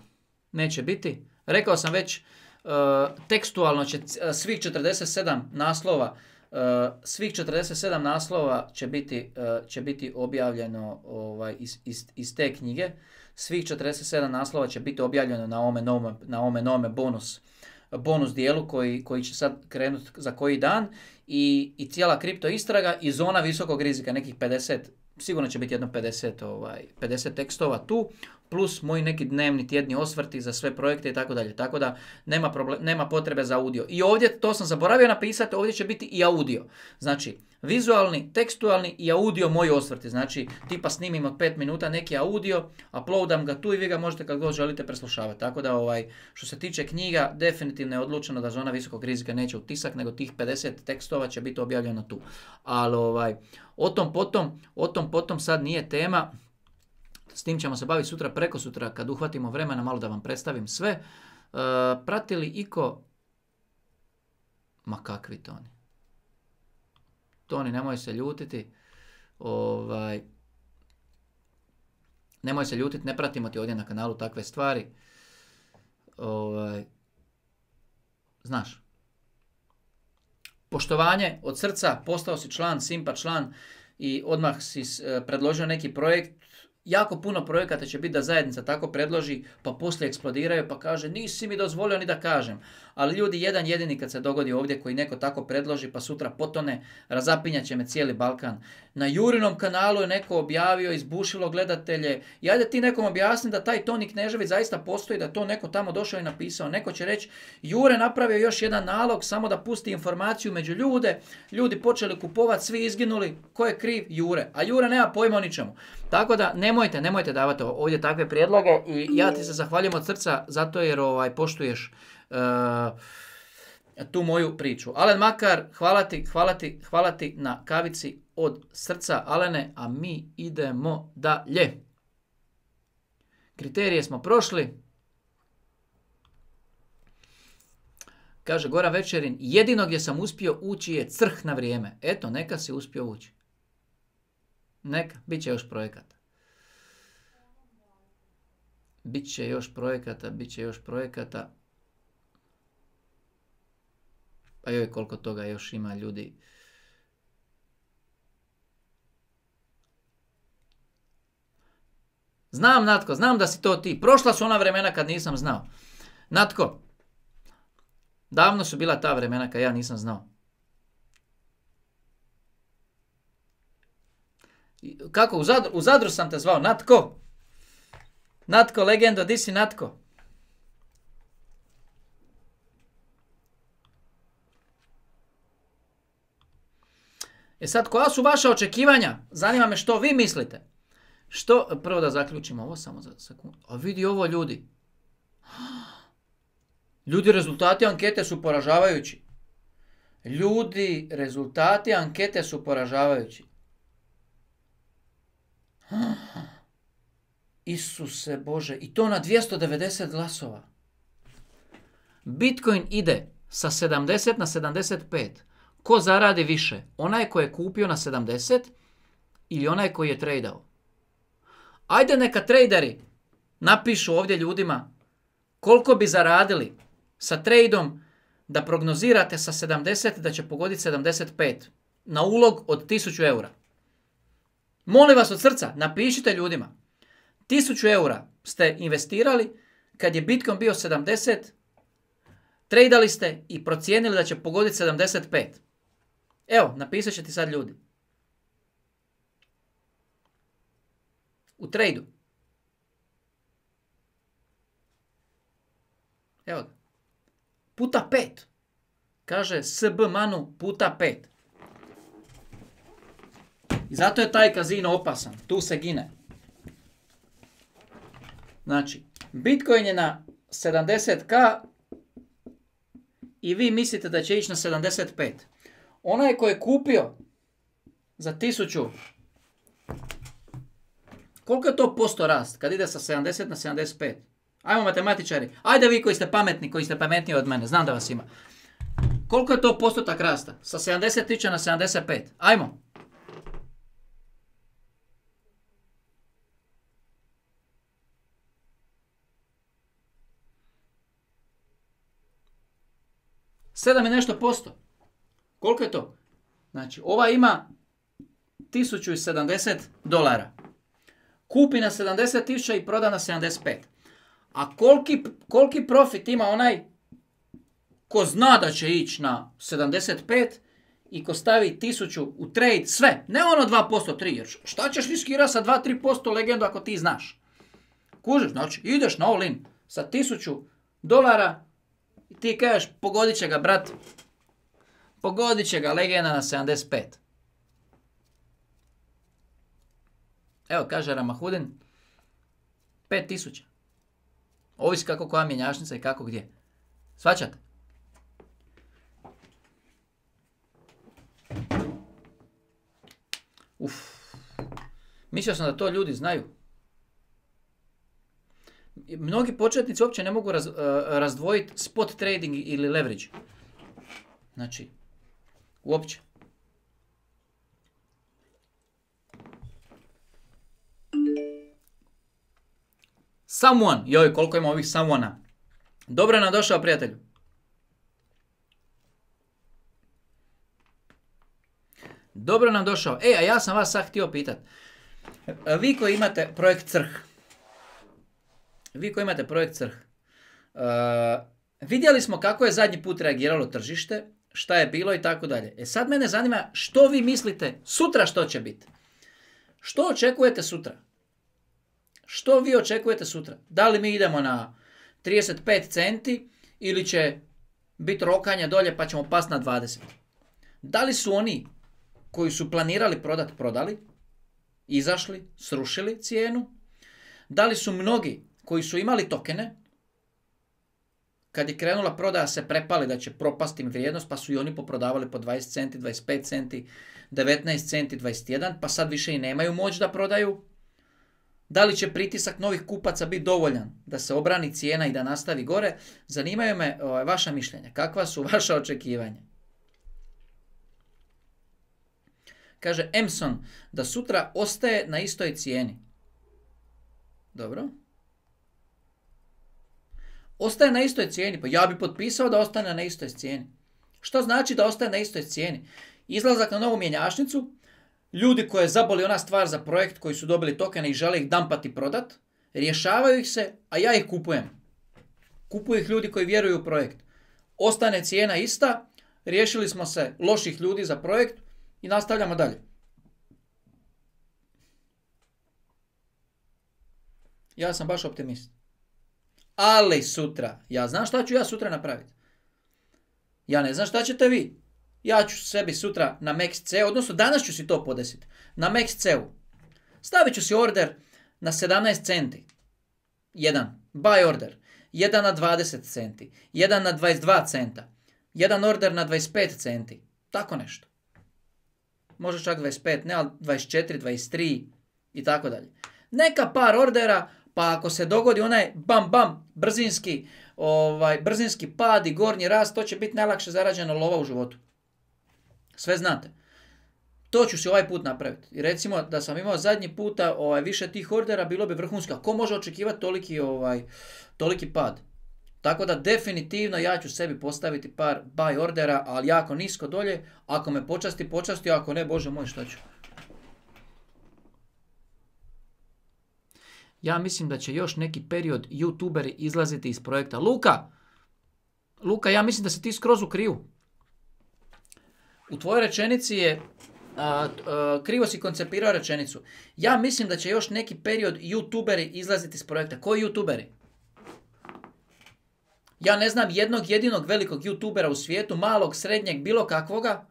Neće biti. Rekao sam već, uh, tekstualno će svih četrdeset sedam naslova, uh, svih četrdeset sedam naslova će biti, uh, će biti objavljeno ovaj, iz, iz, iz te knjige. Svih četrdeset sedam naslova će biti objavljeno na ovome novome, na ovome novome bonus, bonus dijelu koji, koji će sad krenuti za koji dan i, i cijela kripto istraga i zona visokog rizika, nekih pedeset. Sigurno će biti jedno pedeset, ovaj, pedeset tekstova tu, plus moji neki dnevni tjedni osvrti za sve projekte i tako dalje. Tako da nema, problem, nema potrebe za audio. I ovdje, to sam zaboravio napisati, ovdje će biti i audio. Znači, vizualni, tekstualni i audio moji osvrti. Znači, tipa snimim od pet minuta neki audio, uploadam ga tu i vi ga možete kad god želite preslušavati. Tako da, ovaj, što se tiče knjiga, definitivno je odlučeno da zona visokog rizika neće u tisak, nego tih pedeset tekstova će biti objavljeno tu. Ali, ovaj, o tom potom, o tom potom sad nije tema. S tim ćemo se baviti sutra, preko sutra, kad uhvatimo vremena, malo da vam predstavim sve. E, pratili iko... Ma kakvi Toni? Toni, nemoj se ljutiti. Ovaj... Nemoj se ljutiti, ne pratimo ti ovdje na kanalu takve stvari. Ovaj... Znaš. Poštovanje od srca, postao si član, Simpa član i odmah si predložio neki projekt. Jako puno projekata će biti da zajednica tako predloži, pa poslije eksplodiraju, pa kaže nisi mi dozvolio ni da kažem. Ali ljudi, jedan jedini kad se dogodi ovdje koji neko tako predloži, pa sutra potone, razapinjat će me cijeli Balkan. Na Jurinom kanalu je neko objavio, izbušilo gledatelje. I ajde ti nekom objasni da taj Toni Knežević zaista postoji, da to neko tamo došao i napisao. Neko će reći, Jure napravio još jedan nalog samo da pusti informaciju među ljude. Ljudi počeli kupovati, svi izginuli. Ko je kriv? Jure. A Jure nema pojma o ničemu. Tako da nemojte, nemojte davati ovdje takve prijedloge i ja ti se zahvaljujem od srca zato jer ovaj, poštuješ uh, tu moju priču. Alen Makar, hvala ti, hvala ti, hvala ti na kavici od srca, Alene, a mi idemo dalje. Kriterije smo prošli. Kaže Goran Večerin, jedino gdje sam uspio ući je crh na vrijeme. Eto, neka si uspio ući. Neka, bit će još projekata. Bit će još projekata, bit će još projekata. Pa joj, koliko toga još ima ljudi. Znam, Natko, znam da si to ti. Prošla su ona vremena kad nisam znao. Natko, davno su bila ta vremena kad ja nisam znao. Kako? U Zadru, u Zadru sam te zvao. Natko? Natko, legendo, di si Natko? E sad, koja su vaša očekivanja? Zanima me što vi mislite. Što, prvo da zaključimo ovo samo za sekundu. A vidi ovo ljudi. Ljudi, rezultati ankete su poražavajući. Ljudi, rezultati ankete su poražavajući. Isuse Bože, i to na dvjesto devedeset glasova. Bitcoin ide sa sedamdeset na sedamdeset pet. Ko zaradi više? Onaj ko je kupio na sedamdeset ili onaj koji je tradao? Ajde neka traderi napišu ovdje ljudima koliko bi zaradili sa tradom da prognozirate sa sedamdeset da će pogoditi sedamdeset pet na ulog od tisuću eura. Molim vas od srca, napišite ljudima. tisuću eura ste investirali kad je Bitcoin bio sedamdeset, tradali ste i procijenili da će pogoditi sedamdeset pet. Evo, napisat će ti sad ljudi. U tradu. Evo ga. Puta pet. Kaže S B Manu puta pet. I zato je taj kazino opasan. Tu se gine. Znači, Bitcoin je na sedamdeset ka i vi mislite da će ići na sedamdeset pet. Onaj ko je kupio za tisuću, koliko je to posto rast kad ide sa sedamdeset na sedamdeset pet? Ajmo matematičari. Ajde vi koji ste pametni, koji ste pametniji od mene. Znam da vas ima. Koliko je to postotak rasta? Sa sedamdeset tisuća na sedamdeset pet. Ajmo. sedam i nešto posto. Koliko je to? Znači, ova ima tisuću sedamdeset dolara. Kupi na sedamdeset tisuća i proda na sedamdeset pet. A koliki, koliki profit ima onaj ko zna da će ići na sedamdeset pet i ko stavi tisuću u trade, sve. Ne ono dva posto, tri posto. Jer šta ćeš riskirati sa dva do tri posto legendu ako ti znaš? Kužiš, znači ideš na all in sa tisuću dolara i ti kažeš pogodit će ga, brat. Pogodit će ga legenda na sedamdeset pet. Evo, kaže Ramahudin, pet tisuća. Ovisi kako koja mjenjačnica i kako gdje. Svaćate? Uf. Mislio sam da to ljudi znaju. Mnogi početnici uopće ne mogu raz, uh, razdvojiti spot trading ili leverage. Znači, uopće. Someone, joj, koliko ima ovih someone-a. Dobro nam došao, prijatelju. Dobro nam došao. E, a ja sam vas sad htio pitat. Vi koji imate projekt Crh. Vi koji imate projekt Crh. Uh, vidjeli smo kako je zadnji put reagiralo tržište, šta je bilo i tako dalje. E sad mene zanima što vi mislite sutra što će biti. Što očekujete sutra? Što vi očekujete sutra? Da li mi idemo na trideset pet centi ili će biti rokanje dolje pa ćemo pasti na dvadeset? Da li su oni koji su planirali prodati, prodali, izašli, srušili cijenu? Da li su mnogi koji su imali tokene, kad je krenula prodaja se prepali da će propasti im vrijednost, pa su i oni poprodavali po dvadeset centi, dvadeset pet centi, devetnaest centi, dvadeset jedan, pa sad više i nemaju moć da prodaju? Da li će pritisak novih kupaca biti dovoljan da se obrani cijena i da nastavi gore? Zanimaju me o, vaša mišljenja. Kakva su vaša očekivanja? Kaže Emson da sutra ostaje na istoj cijeni. Dobro. Ostaje na istoj cijeni. Pa ja bi potpisao da ostane na istoj cijeni. Što znači da ostaje na istoj cijeni? Izlazak na novu mjenjačnicu, ljudi koje zaboli ona stvar za projekt koji su dobili tokene i žele ih dampati prodat, rješavaju ih se, a ja ih kupujem. Kupuju ih ljudi koji vjeruju u projekt. Ostane cijena ista, riješili smo se loših ljudi za projekt i nastavljamo dalje. Ja sam baš optimist. Ali sutra, ja znam šta ću ja sutra napraviti. Ja ne znam šta ćete vi. Ja ću sebi sutra na Max.cu, odnosno danas ću si to podesiti. Na Max.cu. Stavit ću si order na sedamnaest centi. Jedan. Buy order. Jedan na dvadeset centi. Jedan na dvadeset dva centa. Jedan order na dvadeset pet centi. Tako nešto. Može čak dvadeset pet, ne, ali dvadeset četiri, dvadeset tri i tako dalje. Neka par ordera, pa ako se dogodi onaj bam bam, brzinski, ovaj, brzinski pad i gornji rast, to će biti najlakše zarađena lova u životu. Sve znate. To ću si ovaj put napraviti. I recimo da sam imao zadnji puta ovaj, više tih ordera, bilo bi vrhunsko. Ko može očekivati toliki, ovaj, toliki pad? Tako da definitivno ja ću sebi postaviti par buy ordera, ali jako nisko dolje. Ako me počasti, počasti, ako ne, Bože moj, šta ću? Ja mislim da će još neki period youtuberi izlaziti iz projekta. Luka! Luka, ja mislim da se ti skroz u krivu. U tvojoj rečenici je, a, a, krivo si koncipirao rečenicu. Ja mislim da će još neki period youtuberi izlaziti iz projekta. Koji youtuberi? Ja ne znam jednog jedinog velikog youtubera u svijetu, malog, srednjeg, bilo kakvoga,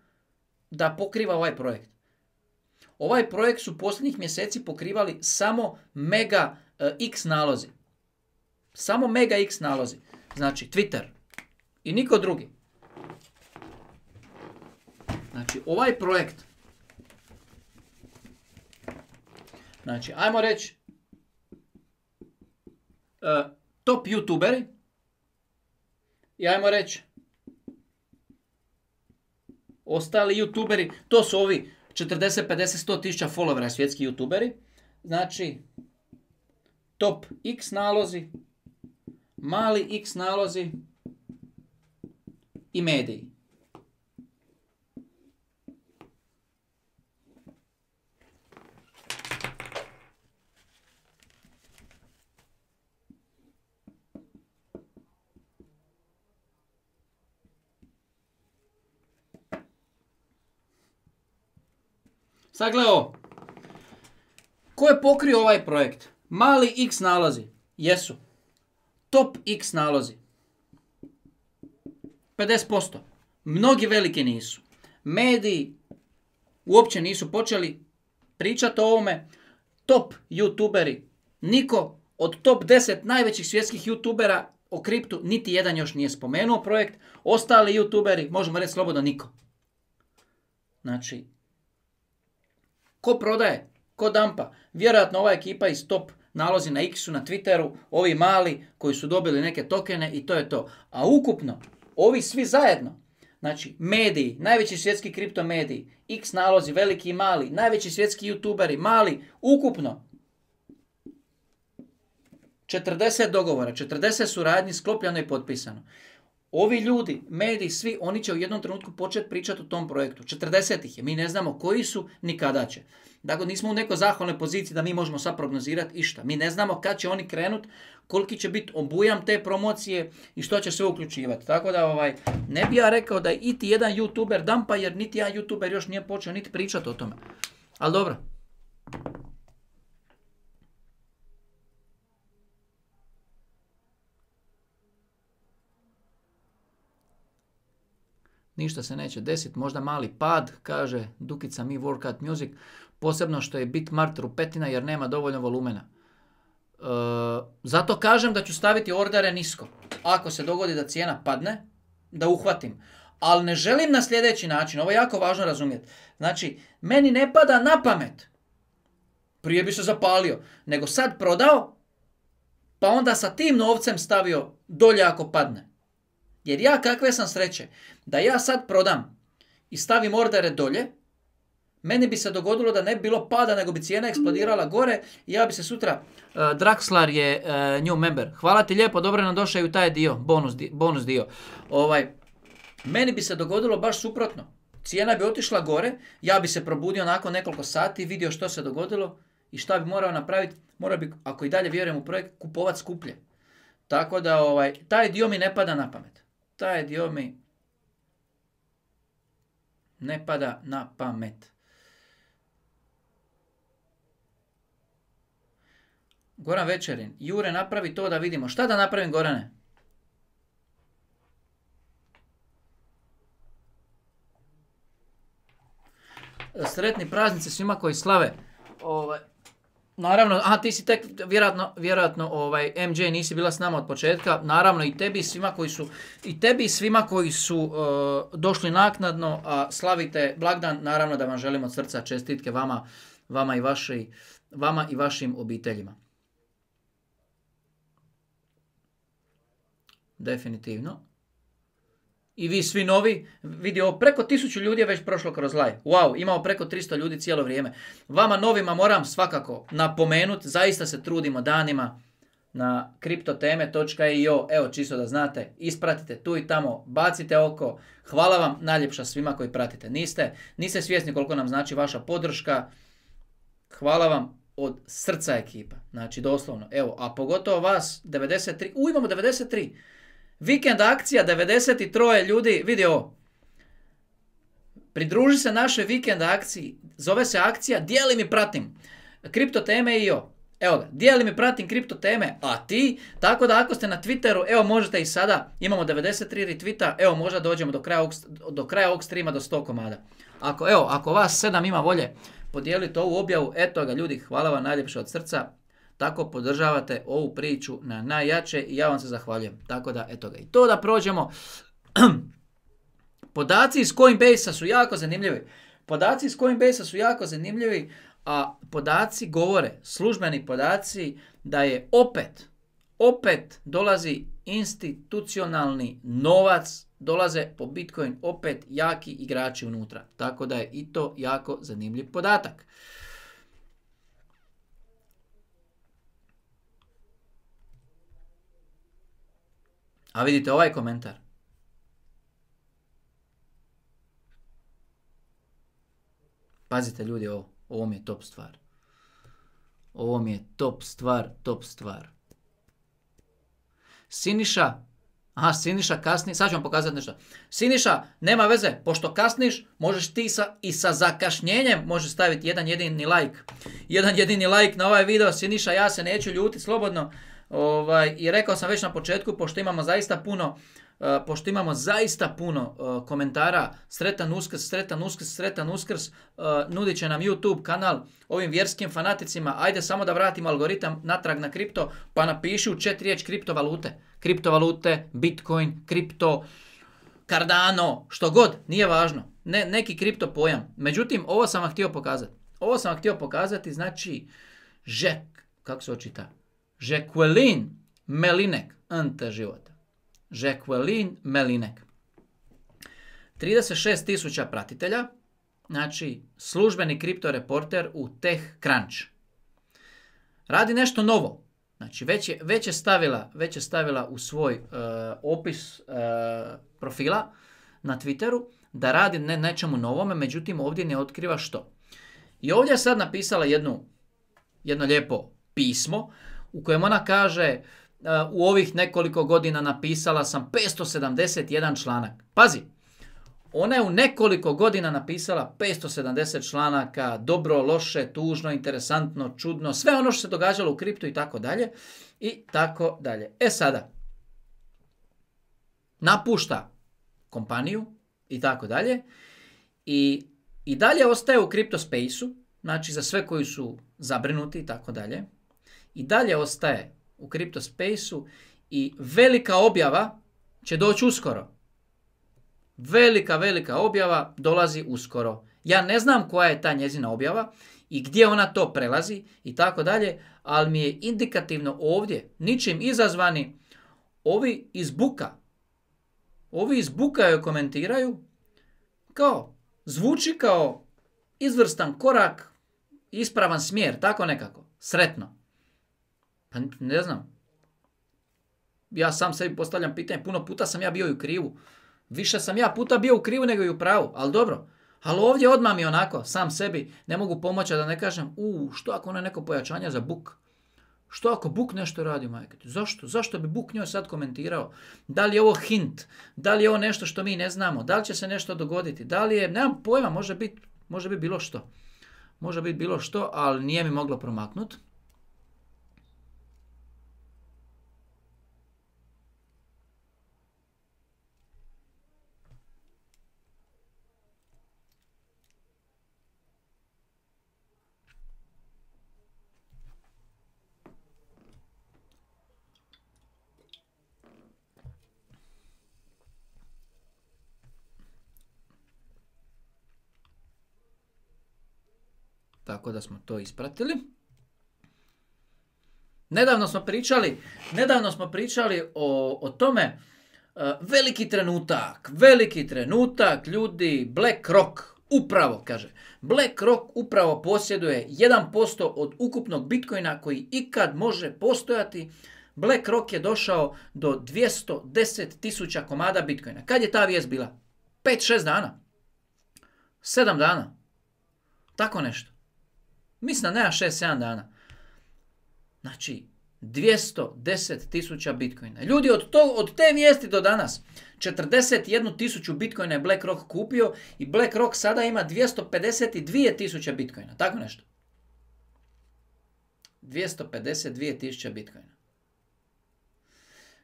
da pokriva ovaj projekt. Ovaj projekt su posljednjih mjeseci pokrivali samo mega uh, X nalozi. Samo mega X nalozi. Znači Twitter. I niko drugi. Znači ovaj projekt. Znači ajmo reći uh, top youtuberi. I ajmo reći ostali youtuberi. To su ovi četrdeset, pedeset, sto tisuća followera svjetski youtuberi. Znači, top X nalozi, mali X nalozi i mediji. Sad gledaj ovo. Ko je pokrio ovaj projekt? Mali X nalozi. Jesu. Top X nalozi. pedeset posto. Mnogi veliki nisu. Mediji uopće nisu počeli pričati o ovome. Top youtuberi. Niko od top deset najvećih svjetskih youtubera o kriptu niti jedan još nije spomenuo projekt. Ostali youtuberi, možemo reći slobodno, niko. Znači, ko prodaje? Ko dampa? Vjerojatno ova ekipa iz top nalozi na X-u, na Twitteru, ovi mali koji su dobili neke tokene i to je to. A ukupno, ovi svi zajedno, znači mediji, najveći svjetski kripto mediji, X nalozi, veliki i mali, najveći svjetski youtuberi, mali, ukupno četrdeset dogovora, četrdeset suradnji sklopljeno i potpisano. Ovi ljudi, mediji, svi, oni će u jednom trenutku početi pričati o tom projektu. četrdeset ih je. Mi ne znamo koji su, ni kada će. Dakle, nismo u nekoj zahvalnoj poziciji da mi možemo sad prognozirati išta. Mi ne znamo kad će oni krenut, koliki će biti obujam te promocije i što će sve uključivati. Tako da, ovaj, ne bi ja rekao da je iti jedan youtuber dampa, jer niti jedan youtuber još nije počeo niti pričati o tome. Ali dobro. Ništa se neće desiti, možda mali pad, kaže Dukica Mi Workout Music, posebno što je Bitmart rupetina jer nema dovoljno volumena. E, zato kažem da ću staviti ordere nisko. Ako se dogodi da cijena padne, da uhvatim. Ali ne želim na sljedeći način, ovo je jako važno razumjeti. Znači, meni ne pada na pamet, prije bi se zapalio, nego sad prodao, pa onda sa tim novcem stavio dolje ako padne. Jer ja kakve sam sreće, da ja sad prodam i stavim ordere dolje, meni bi se dogodilo da ne bi bilo pada, nego bi cijena eksplodirala gore i ja bi se sutra... Uh, Draxlar je uh, new member. Hvala ti lijepo, dobro nam došao i u taj dio, bonus, di, bonus dio. Ovaj, meni bi se dogodilo baš suprotno. Cijena bi otišla gore, ja bi se probudio nakon nekoliko sati, vidio što se dogodilo i šta bi morao napraviti. Morao bi, ako i dalje vjerujem u projekt, kupovat skuplje. Tako da ovaj, taj dio mi ne pada na pamet. Taj dio mi ne pada na pamet. Goran Večerin. Jure, napravi to da vidimo. Šta da napravim, Gorane? Sretni praznici svima koji slave. Ovaj, naravno, aha, ti si tek vjerojatno, vjerojatno ovaj, em džej nisi bila s nama od početka. Naravno i tebi svima koji su, i tebi svima koji su uh, došli naknadno, a slavite blagdan, naravno da vam želim od srca čestitke vama, vama i vaši, vama i vašim obiteljima. Definitivno. I vi svi novi, vidi ovo, preko tisuću ljudi je već prošlo kroz live. Wow, imamo preko tristo ljudi cijelo vrijeme. Vama novima moram svakako napomenuti, zaista se trudimo danima na kriptoteme točka i o. Evo, čisto da znate, ispratite tu i tamo, bacite oko. Hvala vam najljepša svima koji pratite. Niste, niste svjesni koliko nam znači vaša podrška. Hvala vam od srca ekipa. Znači, doslovno. Evo, a pogotovo vas, devedeset tri. U, imamo devedeset tri. Vikend akcija, devedeset tri ljudi, vidi ovo. Pridruži se našoj vikend akciji, zove se akcija Dijelim i pratim kriptoteme i o. Evo ga, dijelim i pratim kriptoteme, a ti, tako da ako ste na Twitteru, evo možete i sada, imamo devedeset tri retweeta, evo možda dođemo do kraja ovog, do kraja ovog streama do sto komada. Ako, evo, ako vas sedam ima volje, podijelite ovu objavu, eto ga ljudi, hvala vam najljepše od srca. Tako podržavate ovu priču na najjače i ja vam se zahvaljujem. Tako da, eto ga. I to da prođemo. Podaci iz Coinbase-a su jako zanimljivi. Podaci iz Coinbase-a su jako zanimljivi, a podaci govore, službeni podaci, da je opet, opet dolazi institucionalni novac, dolaze po Bitcoin opet jaki igrači unutra. Tako da je i to jako zanimljiv podatak. A vidite ovaj komentar. Pazite ljudi ovo. Ovo mi je top stvar. Ovo mi je top stvar, top stvar. Siniša. Aha, Siniša kasni. Sad ću vam pokazati nešto. Siniša, nema veze. Pošto kasniš, možeš ti sa, i sa zakašnjenjem možeš staviti jedan jedini like. Jedan jedini like na ovaj video. Siniša, ja se neću ljuti slobodno. Ovaj, i rekao sam već na početku, pošto imamo zaista puno, uh, pošto imamo zaista puno uh, komentara, sretan Uskrs, sretan Uskrs, sretan Uskrs, uh, nudit će nam YouTube kanal ovim vjerskim fanaticima, ajde samo da vratimo algoritam natrag na kripto, pa napiši u četiri riječ kriptovalute, kriptovalute, Bitcoin, kripto, Cardano, što god, nije važno, ne, neki kripto pojam. Međutim, ovo sam vam htio pokazati, ovo sam vam htio pokazati, znači, Žek, kako se očita? Jacqueline Melinek, ante života. Jacqueline Melinek. trideset šest tisuća pratitelja, znači službeni kripto reporter u TechCrunch. Radi nešto novo. Znači već je, već je, stavila, već je stavila u svoj uh, opis uh, profila na Twitteru da radi ne, nečemu novome, međutim ovdje ne otkriva što. I ovdje je sad napisala jednu, jedno lijepo pismo u kojem ona kaže uh, u ovih nekoliko godina napisala sam petsto sedamdeset jedan članak. Pazi, ona je u nekoliko godina napisala petsto sedamdeset članaka, dobro, loše, tužno, interesantno, čudno, sve ono što se događalo u kriptu i tako dalje. I tako dalje. E sada, napušta kompaniju i tako dalje. I, i dalje ostaje u kripto space-u, znači za sve koji su zabrinuti i tako dalje. I dalje ostaje u kripto space-u i velika objava će doći uskoro. Velika, velika objava dolazi uskoro. Ja ne znam koja je ta njezina objava i gdje ona to prelazi i tako dalje, ali mi je indikativno ovdje, ničim izazvani, ovi iz Buka, ovi iz Buka joj komentiraju kao, zvuči kao izvrstan korak, ispravan smjer, tako nekako, sretno. Pa ne znam. Ja sam sebi postavljam pitanje, puno puta sam ja bio i u krivu. Više sam ja puta bio u krivu nego i u pravu, ali dobro. Ali ovdje odmah mi onako, sam sebi, ne mogu pomoći da ne kažem, u, što ako ono je neko pojačanje za Buk? Što ako Buk nešto radi, majke? Zašto? Zašto bi Buk njoj sad komentirao? Da li je ovo hint? Da li je ovo nešto što mi ne znamo? Da li će se nešto dogoditi? Da li je, nemam pojma, može biti može biti bilo što. Može biti bilo što, ali nije mi moglo promaknuti. tako da smo to ispratili. Nedavno smo pričali, nedavno smo pričali o, o tome, uh, veliki trenutak, veliki trenutak, ljudi, BlackRock, upravo, kaže, BlackRock upravo posjeduje jedan posto od ukupnog Bitcoina koji ikad može postojati. BlackRock je došao do dvjesto deset tisuća komada Bitcoina. Kad je ta vijest bila? pet šest dana? sedam dana? Tako nešto. Mislim da nema šest sedam dana. Znači, dvjesto deset tisuća Bitcoina. Ljudi, od, to, od te vijesti do danas, četrdeset jednu tisuću Bitcoina je BlackRock kupio i BlackRock sada ima dvjesto pedeset dvije tisuće Bitcoina. Tako nešto. dvjesto pedeset dvije tisuće Bitcoina.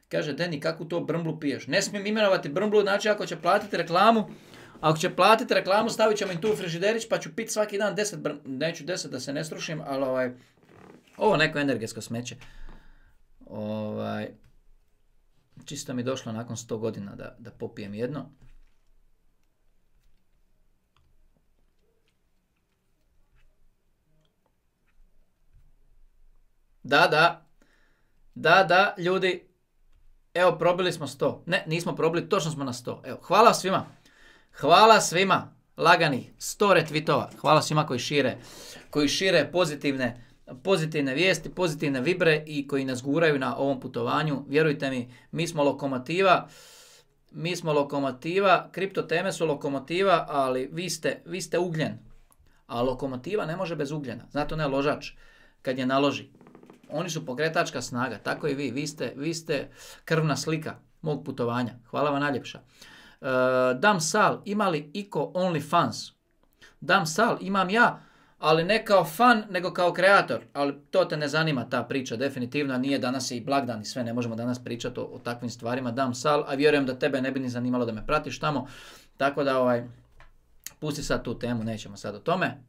Kaže, Deni, kakvu to brmblu piješ? Ne smijem imenovati brmblu, znači ako će platiti reklamu, ako će platiti reklamu, stavit ćemo im tu u frižiderić, pa ću piti svaki dan deset brmblu. Neću deset da se ne strušim, ali ovaj, ovo neko energetsko smeće. Ovaj, čisto mi došlo nakon sto godina da, da popijem jedno. Da, da. Da, da, ljudi. Evo, probili smo sto. Ne, nismo probili, točno smo na sto. Evo, hvala svima. Hvala svima. Lagani, sto retvitova. Hvala svima koji šire, koji šire pozitivne, pozitivne vijesti, pozitivne vibre i koji nas guraju na ovom putovanju. Vjerujte mi, mi smo lokomotiva. Mi smo lokomotiva. Kripto teme su lokomotiva, ali vi ste, vi ste ugljen. A lokomotiva ne može bez ugljena. Znate, ne ložač kad je naloži. Oni su pokretačka snaga, tako i vi. Vi ste, vi ste krvna slika mog putovanja. Hvala vam najljepša. Uh, Dam Sal, ima li iko OnlyFans? Dam Sal, imam ja, ali ne kao fan, nego kao kreator. Ali to te ne zanima ta priča, definitivno. Nije, danas je i blagdan i sve, ne možemo danas pričati o, o takvim stvarima. Dam Sal, a vjerujem da tebe ne bi ni zanimalo da me pratiš tamo. Tako da, ovaj, pusti sad tu temu, nećemo sad o tome.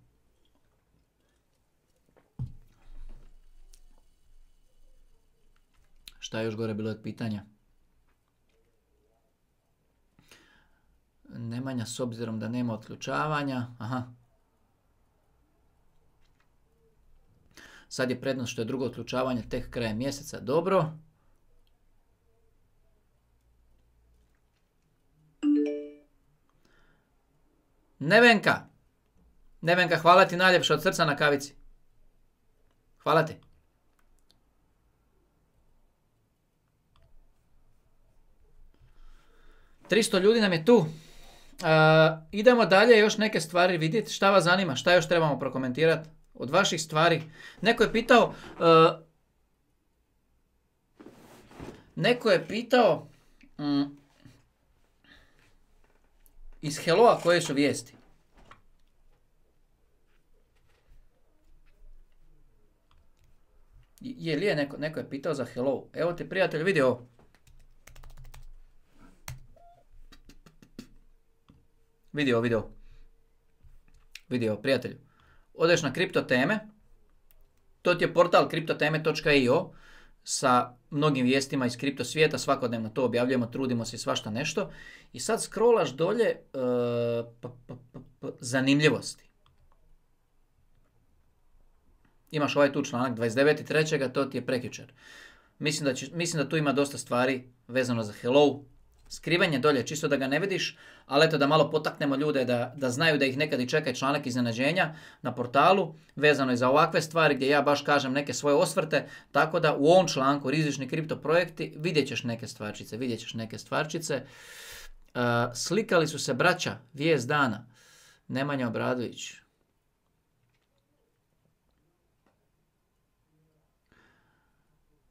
Šta je još gore bilo od pitanja? Nemanja, s obzirom da nema otključavanja. Aha. Sad je prednost što je drugo otključavanje tek krajem mjeseca. Dobro. Nevenka. Nevenka, hvala ti najljepše od srca na kavici. Hvala ti. tristo ljudi nam je tu. Uh, idemo dalje još neke stvari vidjeti. Šta vas zanima? Šta još trebamo prokomentirati od vaših stvari? Neko je pitao... Uh, neko je pitao... Um, iz Helloa koje su vijesti? Je li je neko, neko je pitao za Hello? Evo ti prijatelj, vidi ovo. Vidio, vidio. Vidio, prijatelju. Odeš na kripto teme. To ti je portal kriptoteme točka i o sa mnogim vijestima iz kripto svijeta. Svakodnevno to objavljujemo, trudimo se svašta nešto. I sad scrollaš dolje uh, p, p, p, p, zanimljivosti. Imaš ovaj tu članak dvadeset devetog trećeg to ti je prekjučer. Mislim da, će, mislim da tu ima dosta stvari vezano za Hello. Skrivanje dolje, čisto da ga ne vidiš, ali eto da malo potaknemo ljude da, da znaju da ih nekad i čeka članak iznenađenja na portalu, vezano je za ovakve stvari gdje ja baš kažem neke svoje osvrte, tako da u ovom članku rizični kripto projekti vidjet ćeš neke stvarčice, vidjet ćeš neke stvarčice. Uh, slikali su se braća, vijest dana, Nemanja Obradović.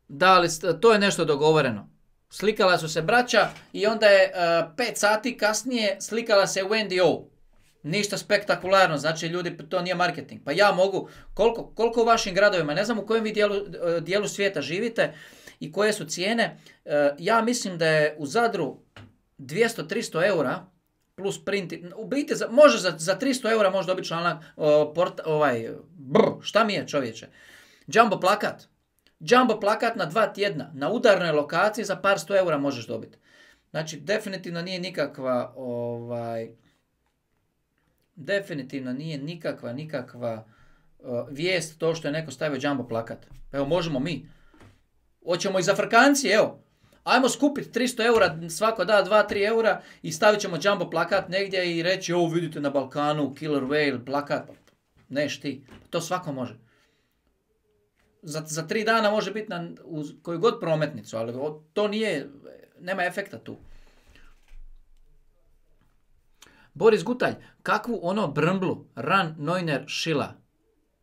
Da, ali to je nešto dogovoreno. Slikala su se braća i onda je uh, pet sati kasnije slikala se u N D O. Ništa spektakularno, znači ljudi, to nije marketing. Pa ja mogu, koliko, koliko u vašim gradovima, ne znam u kojem vi dijelu, dijelu svijeta živite i koje su cijene, uh, ja mislim da je u Zadru dvjesto do tristo eura plus print, u biti za, može za, za tristo eura može dobiti članak, uh, port, ovaj, brr, šta mi je čovječe, jumbo plakat. Jumbo plakat na dva tjedna, na udarnoj lokaciji za par sto eura možeš dobiti. Znači, definitivno nije nikakva, ovaj, definitivno nije nikakva, nikakva, uh, vijest to što je neko stavio jumbo plakat. Evo, možemo mi. Hoćemo i za Frkanci, evo. Ajmo skupiti tristo eura, svako da dva do tri eura i stavit ćemo jumbo plakat negdje i reći, ovo vidite na Balkanu, Killer Whale, plakat. Neš ti, to svako može. Za, za tri dana može biti na uz koju god prometnicu, ali to nije, nema efekta tu. Boris Gutalj, kakvu ono brmblu, Ran Neuner šila?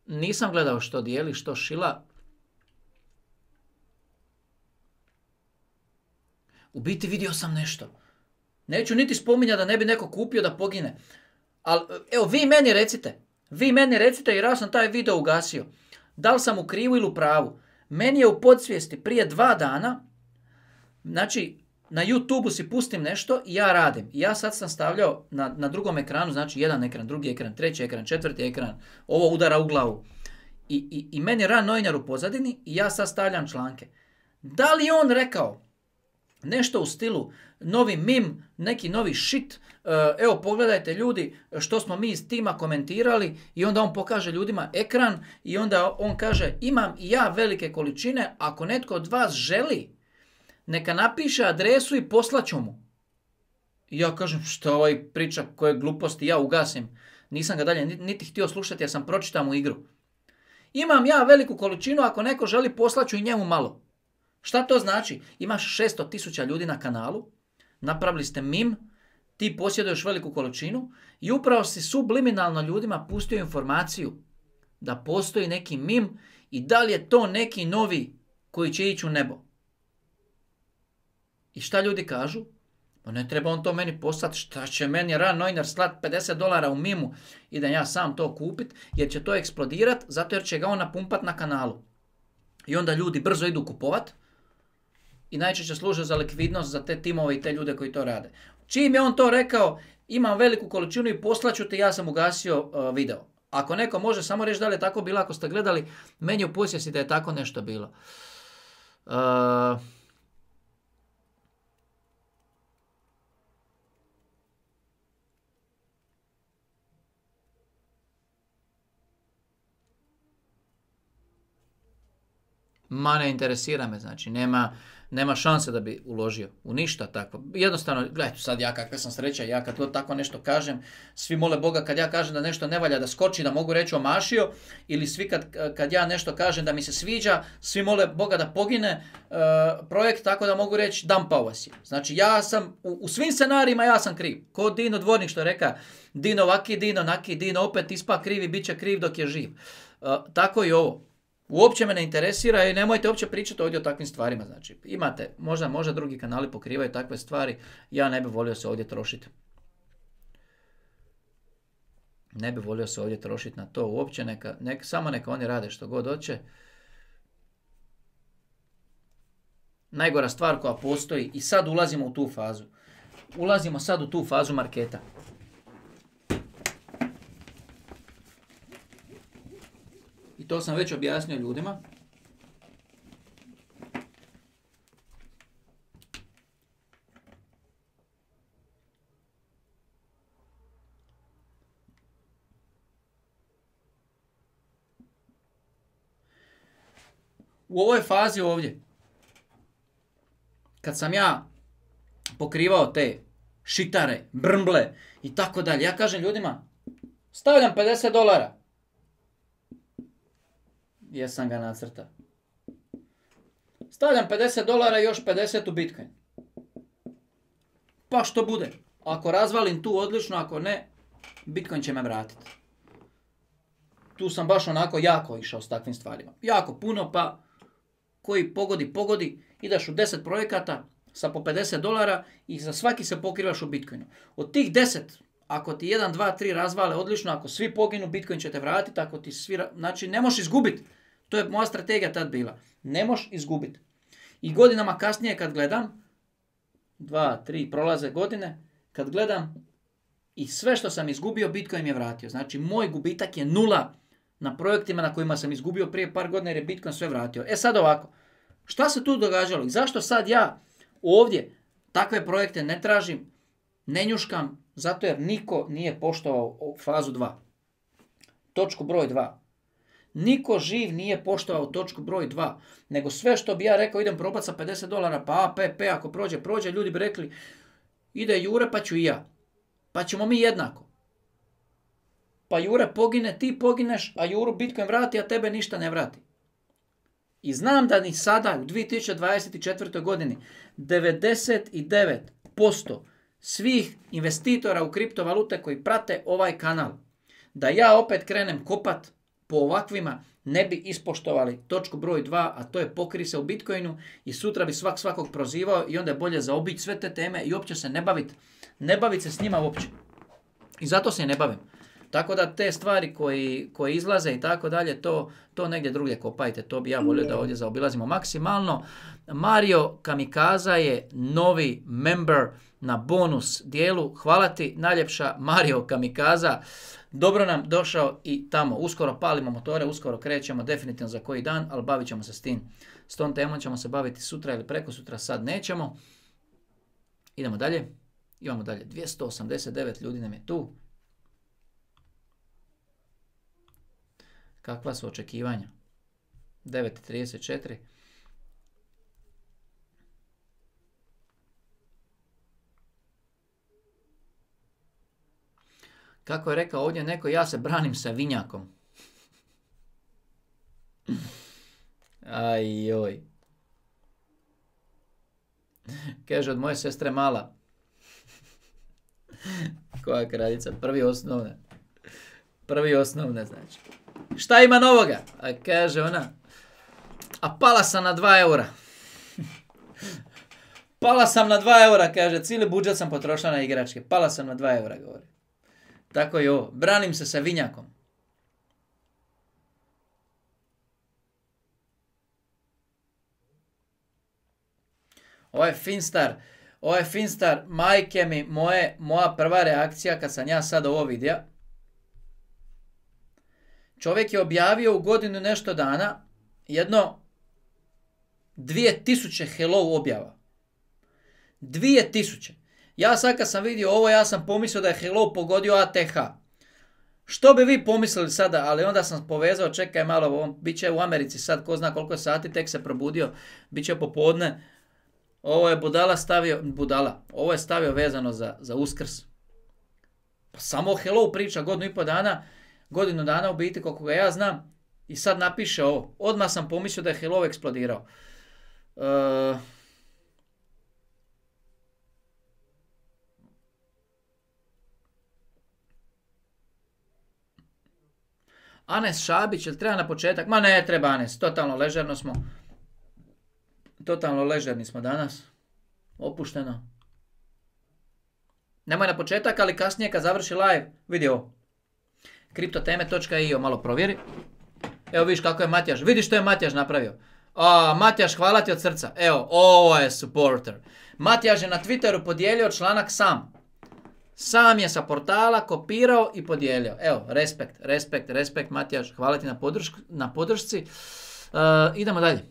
Nisam gledao što dijeli, što šila. U biti vidio sam nešto. Neću niti spominjati da ne bi neko kupio da pogine. Ali, evo, vi meni recite. Vi meni recite jer ja sam taj video ugasio. Da li sam u krivu ili u pravu? Meni je u podsvijesti prije dva dana, znači, na YouTubeu si pustim nešto i ja radim. I ja sad sam stavljao na, na drugom ekranu, znači jedan ekran, drugi ekran, treći ekran, četvrti ekran, ovo udara u glavu. I, i, i meni je Ran Neuner u pozadini i ja sad stavljam članke. Da li je on rekao nešto u stilu, novi mim, neki novi shit, evo pogledajte ljudi što smo mi iz tima komentirali i onda on pokaže ljudima ekran i onda on kaže imam i ja velike količine, ako netko od vas želi, neka napiše adresu i poslaću mu. I ja kažem što ovaj priča koje gluposti, ja ugasim. Nisam ga dalje niti htio slušati jer sam pročitao mu igru. Imam ja veliku količinu, ako neko želi poslaću i njemu malo. Šta to znači? Imaš šesto tisuća ljudi na kanalu, napravili ste mim, ti posjeduješ veliku količinu i upravo si subliminalno ljudima pustio informaciju da postoji neki mim i da li je to neki novi koji će ići u nebo. I šta ljudi kažu? Pa ne treba on to meni poslati, šta će meni Ran Neuner slat pedeset dolara u mimu i da ja sam to kupit, jer će to eksplodirat, zato jer će ga on napumpat na kanalu. I onda ljudi brzo idu kupovat i najčešće služe za likvidnost za te timove i te ljude koji to rade. Čim je on to rekao, imam veliku količinu i poslaću te, ja sam ugasio uh, video. Ako neko može samo reći da li je tako bilo, ako ste gledali, meni u posjesi da je tako nešto bilo. Uh, Ma ne interesira me, znači nema, nema šanse da bi uložio u ništa tako. Jednostavno, gledajte sad ja kakva sam sreća, ja kad to tako nešto kažem, svi mole Boga kad ja kažem da nešto ne valja da skoči, da mogu reći omašio, ili svi kad, kad ja nešto kažem da mi se sviđa, svi mole Boga da pogine uh, projekt tako da mogu reći dampao vas je. Znači ja sam, u, u svim scenarijima ja sam kriv. Ko Dino Dvornik što je reka, Dino vaki, Dino naki, Dino opet ispa krivi, bit će kriv dok je živ. Uh, tako i ovo. Uopće me ne interesira i nemojte uopće pričati ovdje o takvim stvarima. Znači, imate, možda, možda drugi kanali pokrivaju takve stvari, ja ne bih volio se ovdje trošiti. Ne bih volio se ovdje trošiti na to uopće, neka, neka, samo neka oni rade što god hoće. Najgora stvar koja postoji i sad ulazimo u tu fazu. Ulazimo sad u tu fazu marketa. I to sam već objasnio ljudima. U ovoj fazi ovdje, kad sam ja pokrivao te šitare, brmble i tako dalje, ja kažem ljudima, stavljam pedeset dolara. Jesam ga nacrta. Stavljam pedeset dolara i još pedeset u Bitcoin. Pa što bude? Ako razvalim tu odlično, ako ne, Bitcoin će me vratiti. Tu sam baš onako jako išao s takvim stvarima. Jako puno, pa koji pogodi, pogodi, ideš u deset projekata sa po pedeset dolara i za svaki se pokrivaš u Bitcoinu. Od tih deset, ako ti jedan, dva, tri razvale odlično, ako svi poginu, Bitcoin će te vratiti, ako ti svi, znači ne možeš izgubiti. To je moja strategija tad bila. Ne možeš izgubiti. I godinama kasnije kad gledam, dva, tri, prolaze godine, kad gledam i sve što sam izgubio, Bitcoin mi je vratio. Znači moj gubitak je nula na projektima na kojima sam izgubio prije par godina jer je Bitcoin sve vratio. E sad ovako, šta se tu događalo i zašto sad ja ovdje takve projekte ne tražim, ne njuškam, zato jer niko nije poštovao fazu dva. Točku broj dva. Niko živ nije poštovao točku broj dva, nego sve što bi ja rekao idem probati sa pedeset dolara, pa A P P ako prođe, prođe, ljudi bi rekli ide Jure pa ću i ja. Pa ćemo mi jednako. Pa Jure pogine, ti pogineš, a Juru Bitcoin vrati, a tebe ništa ne vrati. I znam da ni sada u dvije tisuće dvadeset četvrtoj godini devedeset devet posto svih investitora u kriptovalute koji prate ovaj kanal, da ja opet krenem kopat po ovakvima, ne bi ispoštovali točku broj dva, a to je pokri se u Bitcoinu i sutra bi svak svakog prozivao i onda je bolje zaobići sve te teme i uopće se ne baviti. Ne baviti se s njima uopće. I zato se ne bavim. Tako da te stvari koji, koji izlaze i tako dalje, to, to negdje drugdje kopajte. To bi ja volio da ovdje zaobilazimo maksimalno. Mario Kamikaza je novi member na bonus dijelu. Hvala ti najljepša Mario Kamikaza. Dobro nam došao i tamo. Uskoro palimo motore, uskoro krećemo definitivno za koji dan, ali bavit ćemo se s tim. S tom temom ćemo se baviti sutra ili preko sutra, sad nećemo. Idemo dalje. Imamo dalje. dvjesto osamdeset devet ljudi nam je tu. Kakva su očekivanja? devet trideset četiri. Kako je rekao ovdje neko, ja se branim sa vinjakom. Aj joj. Kaže od moje sestre mala. Koja kraljica? Prvi osnovne. Prvi osnovne znači. Šta ima novoga? A kaže ona. A pala sam na dva eura. Pala sam na dva eura, kaže. Cijeli budžet sam potrošila na igračke. Pala sam na dva eura, govori. Tako je ovo. Branim se sa vinjakom. Ovo je Finstar. Ovo je Finstar. Majke mi, moje, moja prva reakcija kad sam ja sad ovo vidio. Čovjek je objavio u godinu nešto dana jedno dvije tisuće hello objava. Dvije tisuće. Ja sad kad sam vidio ovo, ja sam pomislio da je hello pogodio A T H. Što bi vi pomislili sada, ali onda sam povezao, čekaj malo, on bit će u Americi sad, ko zna koliko sati, tek se probudio, bit će popodne. Ovo je budala stavio, budala, ovo je stavio vezano za, za Uskrs. Pa samo hello priča godinu i pol dana, godinu dana u biti koliko ga ja znam i sad napiše ovo. Odmah sam pomislio da je hello eksplodirao. Uh, Anes Šabić, jel treba na početak? Ma ne treba Anes, totalno ležerno smo. Totalno ležerni smo danas. Opušteno. Nemoj na početak, ali kasnije kad završi live, vidi ovo. kriptoteme točka i o, malo provjeri. Evo vidiš kako je Matjaš. Vidiš što je Matjaš napravio. A, Matjaš, hvala ti od srca. Evo, ovo je supporter. Matjaš je na Twitteru podijelio članak sam. Sam je sa portala kopirao i podijelio. Evo, respekt, respekt, respekt, Matjaš. Hvala ti na, podrž, na podršci. Uh, idemo dalje.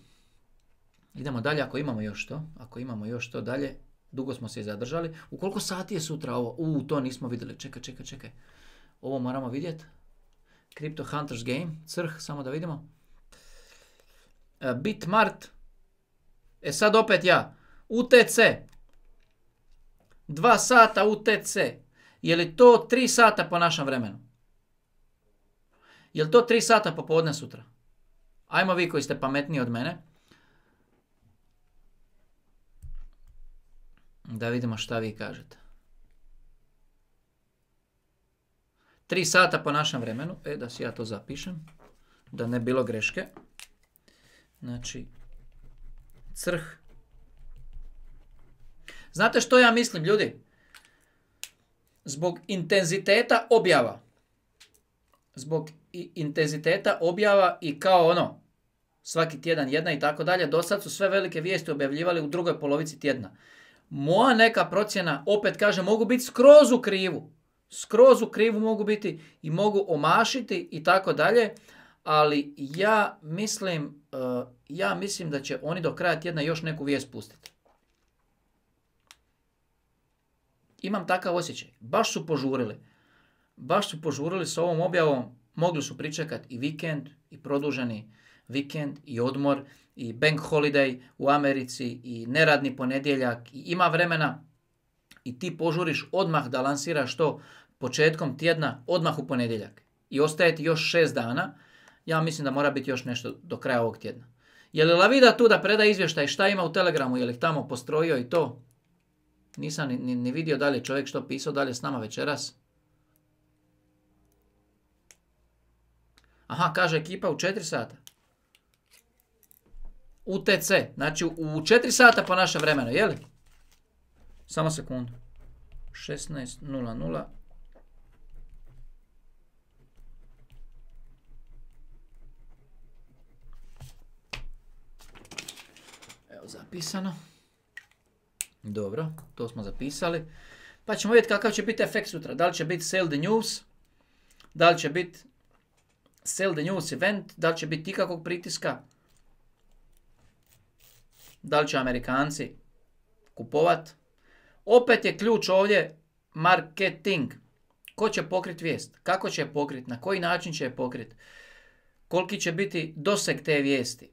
Idemo dalje ako imamo još to. Ako imamo još to dalje. Dugo smo se i zadržali. U koliko sati je sutra ovo? U, to nismo vidjeli. Čekaj, čekaj, čekaj. Ovo moramo vidjeti. Crypto Hunters Game. Crh, samo da vidimo. Uh, Bitmart. E sad opet ja. U T C. Dva sata U T C. Je li to tri sata po našem vremenu? Je li to tri sata popodne sutra? Ajmo vi koji ste pametniji od mene. Da vidimo šta vi kažete. Tri sata po našem vremenu. E, da si ja to zapišem. Da ne bilo greške. Znači, crh. Znate što ja mislim, ljudi? Zbog intenziteta objava. Zbog intenziteta objava i kao ono, svaki tjedan jedna i tako dalje, do sad su sve velike vijesti objavljivali u drugoj polovici tjedna. Moja neka procjena, opet kažem, mogu biti skroz u krivu. Skroz u krivu mogu biti i mogu omašiti i tako dalje, ali ja mislim, uh, ja mislim da će oni do kraja tjedna još neku vijest pustiti. Imam takav osjećaj. Baš su požurili. Baš su požurili s ovom objavom mogli su pričekati i vikend, i produženi vikend, i odmor, i bank holiday u Americi, i neradni ponedjeljak, i ima vremena i ti požuriš odmah da lansiraš to početkom tjedna, odmah u ponedjeljak. I ostaje ti još šest dana, ja mislim da mora biti još nešto do kraja ovog tjedna. Je li Lavida tu da preda izvještaj šta ima u Telegramu, je li ih tamo postrojio i to? Nisam ni, ni, ni vidio dalje čovjek što pisao dalje s nama večeras. Aha, kaže ekipa u četiri sata. U T C, znači u četiri sata po našem vremenu, je li? Samo sekundu. šesnaest nula nula. Evo zapisano. Dobro, to smo zapisali. Pa ćemo vidjeti kakav će biti efekt sutra. Da li će biti sell the news, da li će biti sell the news event, da li će biti ikakvog pritiska, da li će Amerikanci kupovat. Opet je ključ ovdje marketing. Ko će pokriti vijest? Kako će je pokriti? Na koji način će je pokriti? Koliki će biti doseg te vijesti?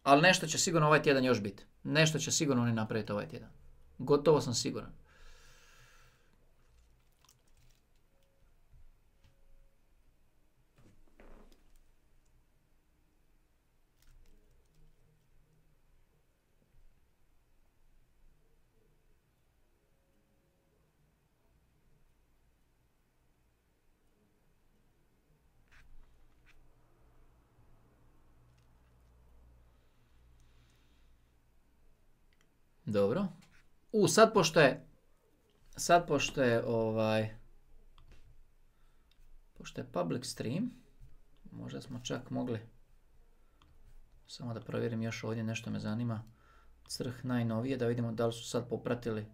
Ali nešto će sigurno ovaj tjedan još biti. Nešto će sigurno oni napraviti ovaj tjedan. Gotovo sam siguran. Dobro. U, sad pošto je, sad pošto je ovaj, pošto je public stream, možda smo čak mogli, samo da provjerim još ovdje, nešto me zanima, crh najnovije, da vidimo da li su sad popratili.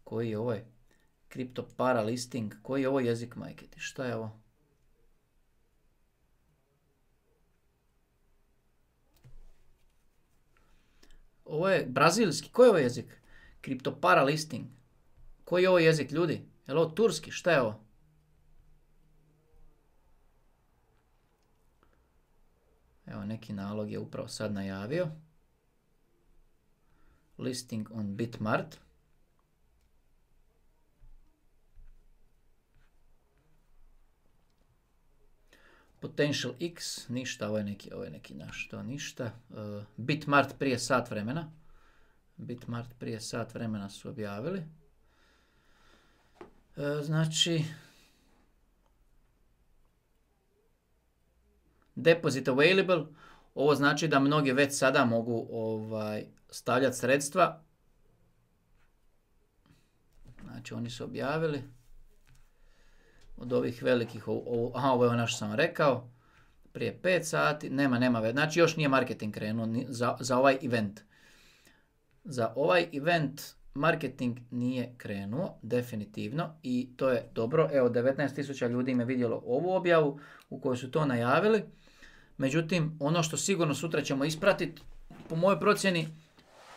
Koji je ovaj? Crypto para listing, koji je ovo jezik, majke ti, šta je ovo? Ovo je brazilski. Koji je ovo jezik? Kriptopara listing. Koji je ovo jezik, ljudi? Je li ovo turski? Šta je ovo? Evo, neki nalog je upravo sad najavio. Listing on Bitmart. Potential X, ništa, ovo je neki, ovo je neki naš, to ništa. Uh, Bitmart prije sat vremena. Bitmart prije sat vremena su objavili. Uh, znači, deposit available, ovo znači da mnogi već sada mogu ovaj, stavljati sredstva. Znači, oni su objavili. Od ovih velikih, ovo, aha, ovo je ono što sam rekao, prije pet sati, nema, nema već, znači još nije marketing krenuo za, za ovaj event. Za ovaj event marketing nije krenuo, definitivno, i to je dobro. Evo, devetnaest tisuća ljudi im je vidjelo ovu objavu u kojoj su to najavili. Međutim, ono što sigurno sutra ćemo ispratiti, po mojoj procjeni,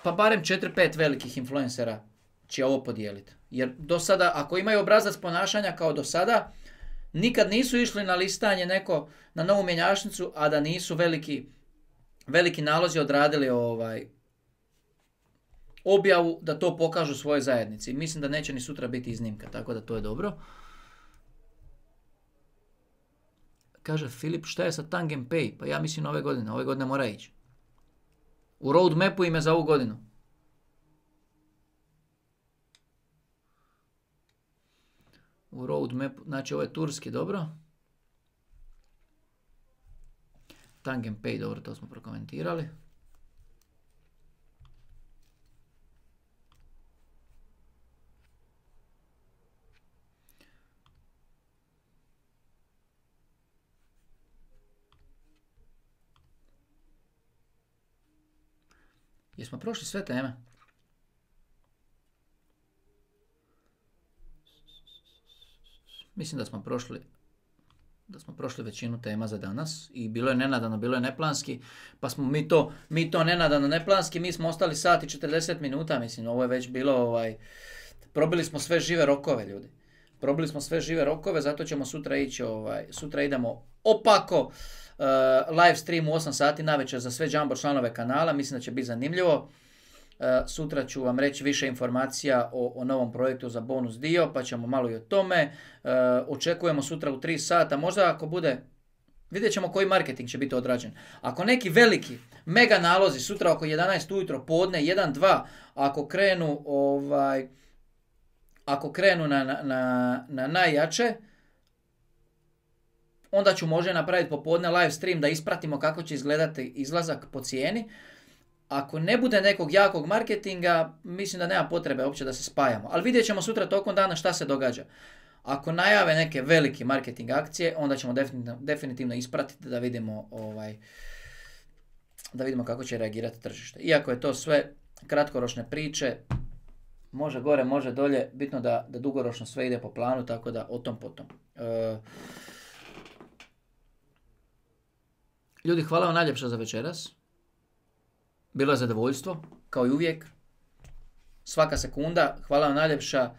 pa barem četiri pet velikih influencera će ovo podijeliti. Jer do sada, ako imaju obrazac ponašanja kao do sada, nikad nisu išli na listanje neko na novu mjenjačnicu, a da nisu veliki, veliki nalozi odradili ovaj objavu da to pokažu svojoj zajednici. Mislim da neće ni sutra biti iznimka, tako da to je dobro. Kaže Filip, šta je sa Tangem Pay? Pa ja mislim ove godine, ove godine mora ići. U roadmapu im je za ovu godinu. U roadmapu, znači ovo je turski, dobro. Tangem Pay, dobro, to smo prokomentirali. Jesmo prošli sve teme? Mislim da smo prošli da smo prošli većinu tema za danas i bilo je nenadano, bilo je neplanski, pa smo mi to, mi to nenadano, neplanski, mi smo ostali sat i četrdeset minuta, mislim, ovo je već bilo, ovaj, probili smo sve žive rokove, ljudi. probili smo sve žive rokove, zato ćemo sutra ići, ovaj, sutra idemo opako, uh, live stream u osam sati navečer za sve Jumbo članove kanala, mislim da će biti zanimljivo. Uh, sutra ću vam reći više informacija o, o novom projektu za bonus dio, pa ćemo malo i o tome. Uh, očekujemo sutra u tri sata, možda ako bude, vidjet ćemo koji marketing će biti odrađen. Ako neki veliki, mega nalozi sutra oko jedanaest ujutro, podne, jedan, dva, ako krenu, ovaj, ako krenu na, na, na, na najjače, onda ću možda napraviti popodne live stream da ispratimo kako će izgledati izlazak po cijeni. Ako ne bude nekog jakog marketinga, mislim da nema potrebe uopće da se spajamo. Ali vidjet ćemo sutra tokom dana šta se događa. Ako najave neke velike marketing akcije, onda ćemo definitivno, definitivno ispratiti da vidimo, ovaj, da vidimo kako će reagirati tržište. Iako je to sve kratkoročne priče, može gore, može dolje, bitno da, da dugoročno sve ide po planu, tako da o tom potom. E, ljudi, hvala vam najljepša za večeras. Bilo je zadovoljstvo, kao i uvijek. Svaka sekunda, hvala vam najljepša.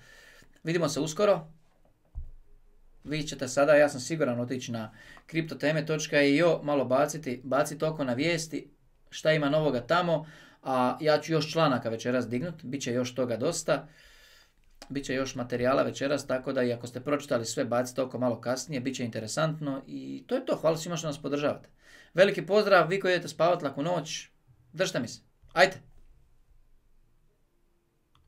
Vidimo se uskoro. Vi ćete sada, ja sam siguran, otići na kriptoteme točka i o, malo baciti, baciti oko na vijesti, šta ima novoga tamo, a ja ću još članaka večeras dignut, bit će još toga dosta, bit će još materijala večeras, tako da i ako ste pročitali sve, bacite oko malo kasnije, bit će interesantno i to je to, hvala svima što nas podržavate. Veliki pozdrav, vi koji idete spavat laku noć, držite mi se, ajte!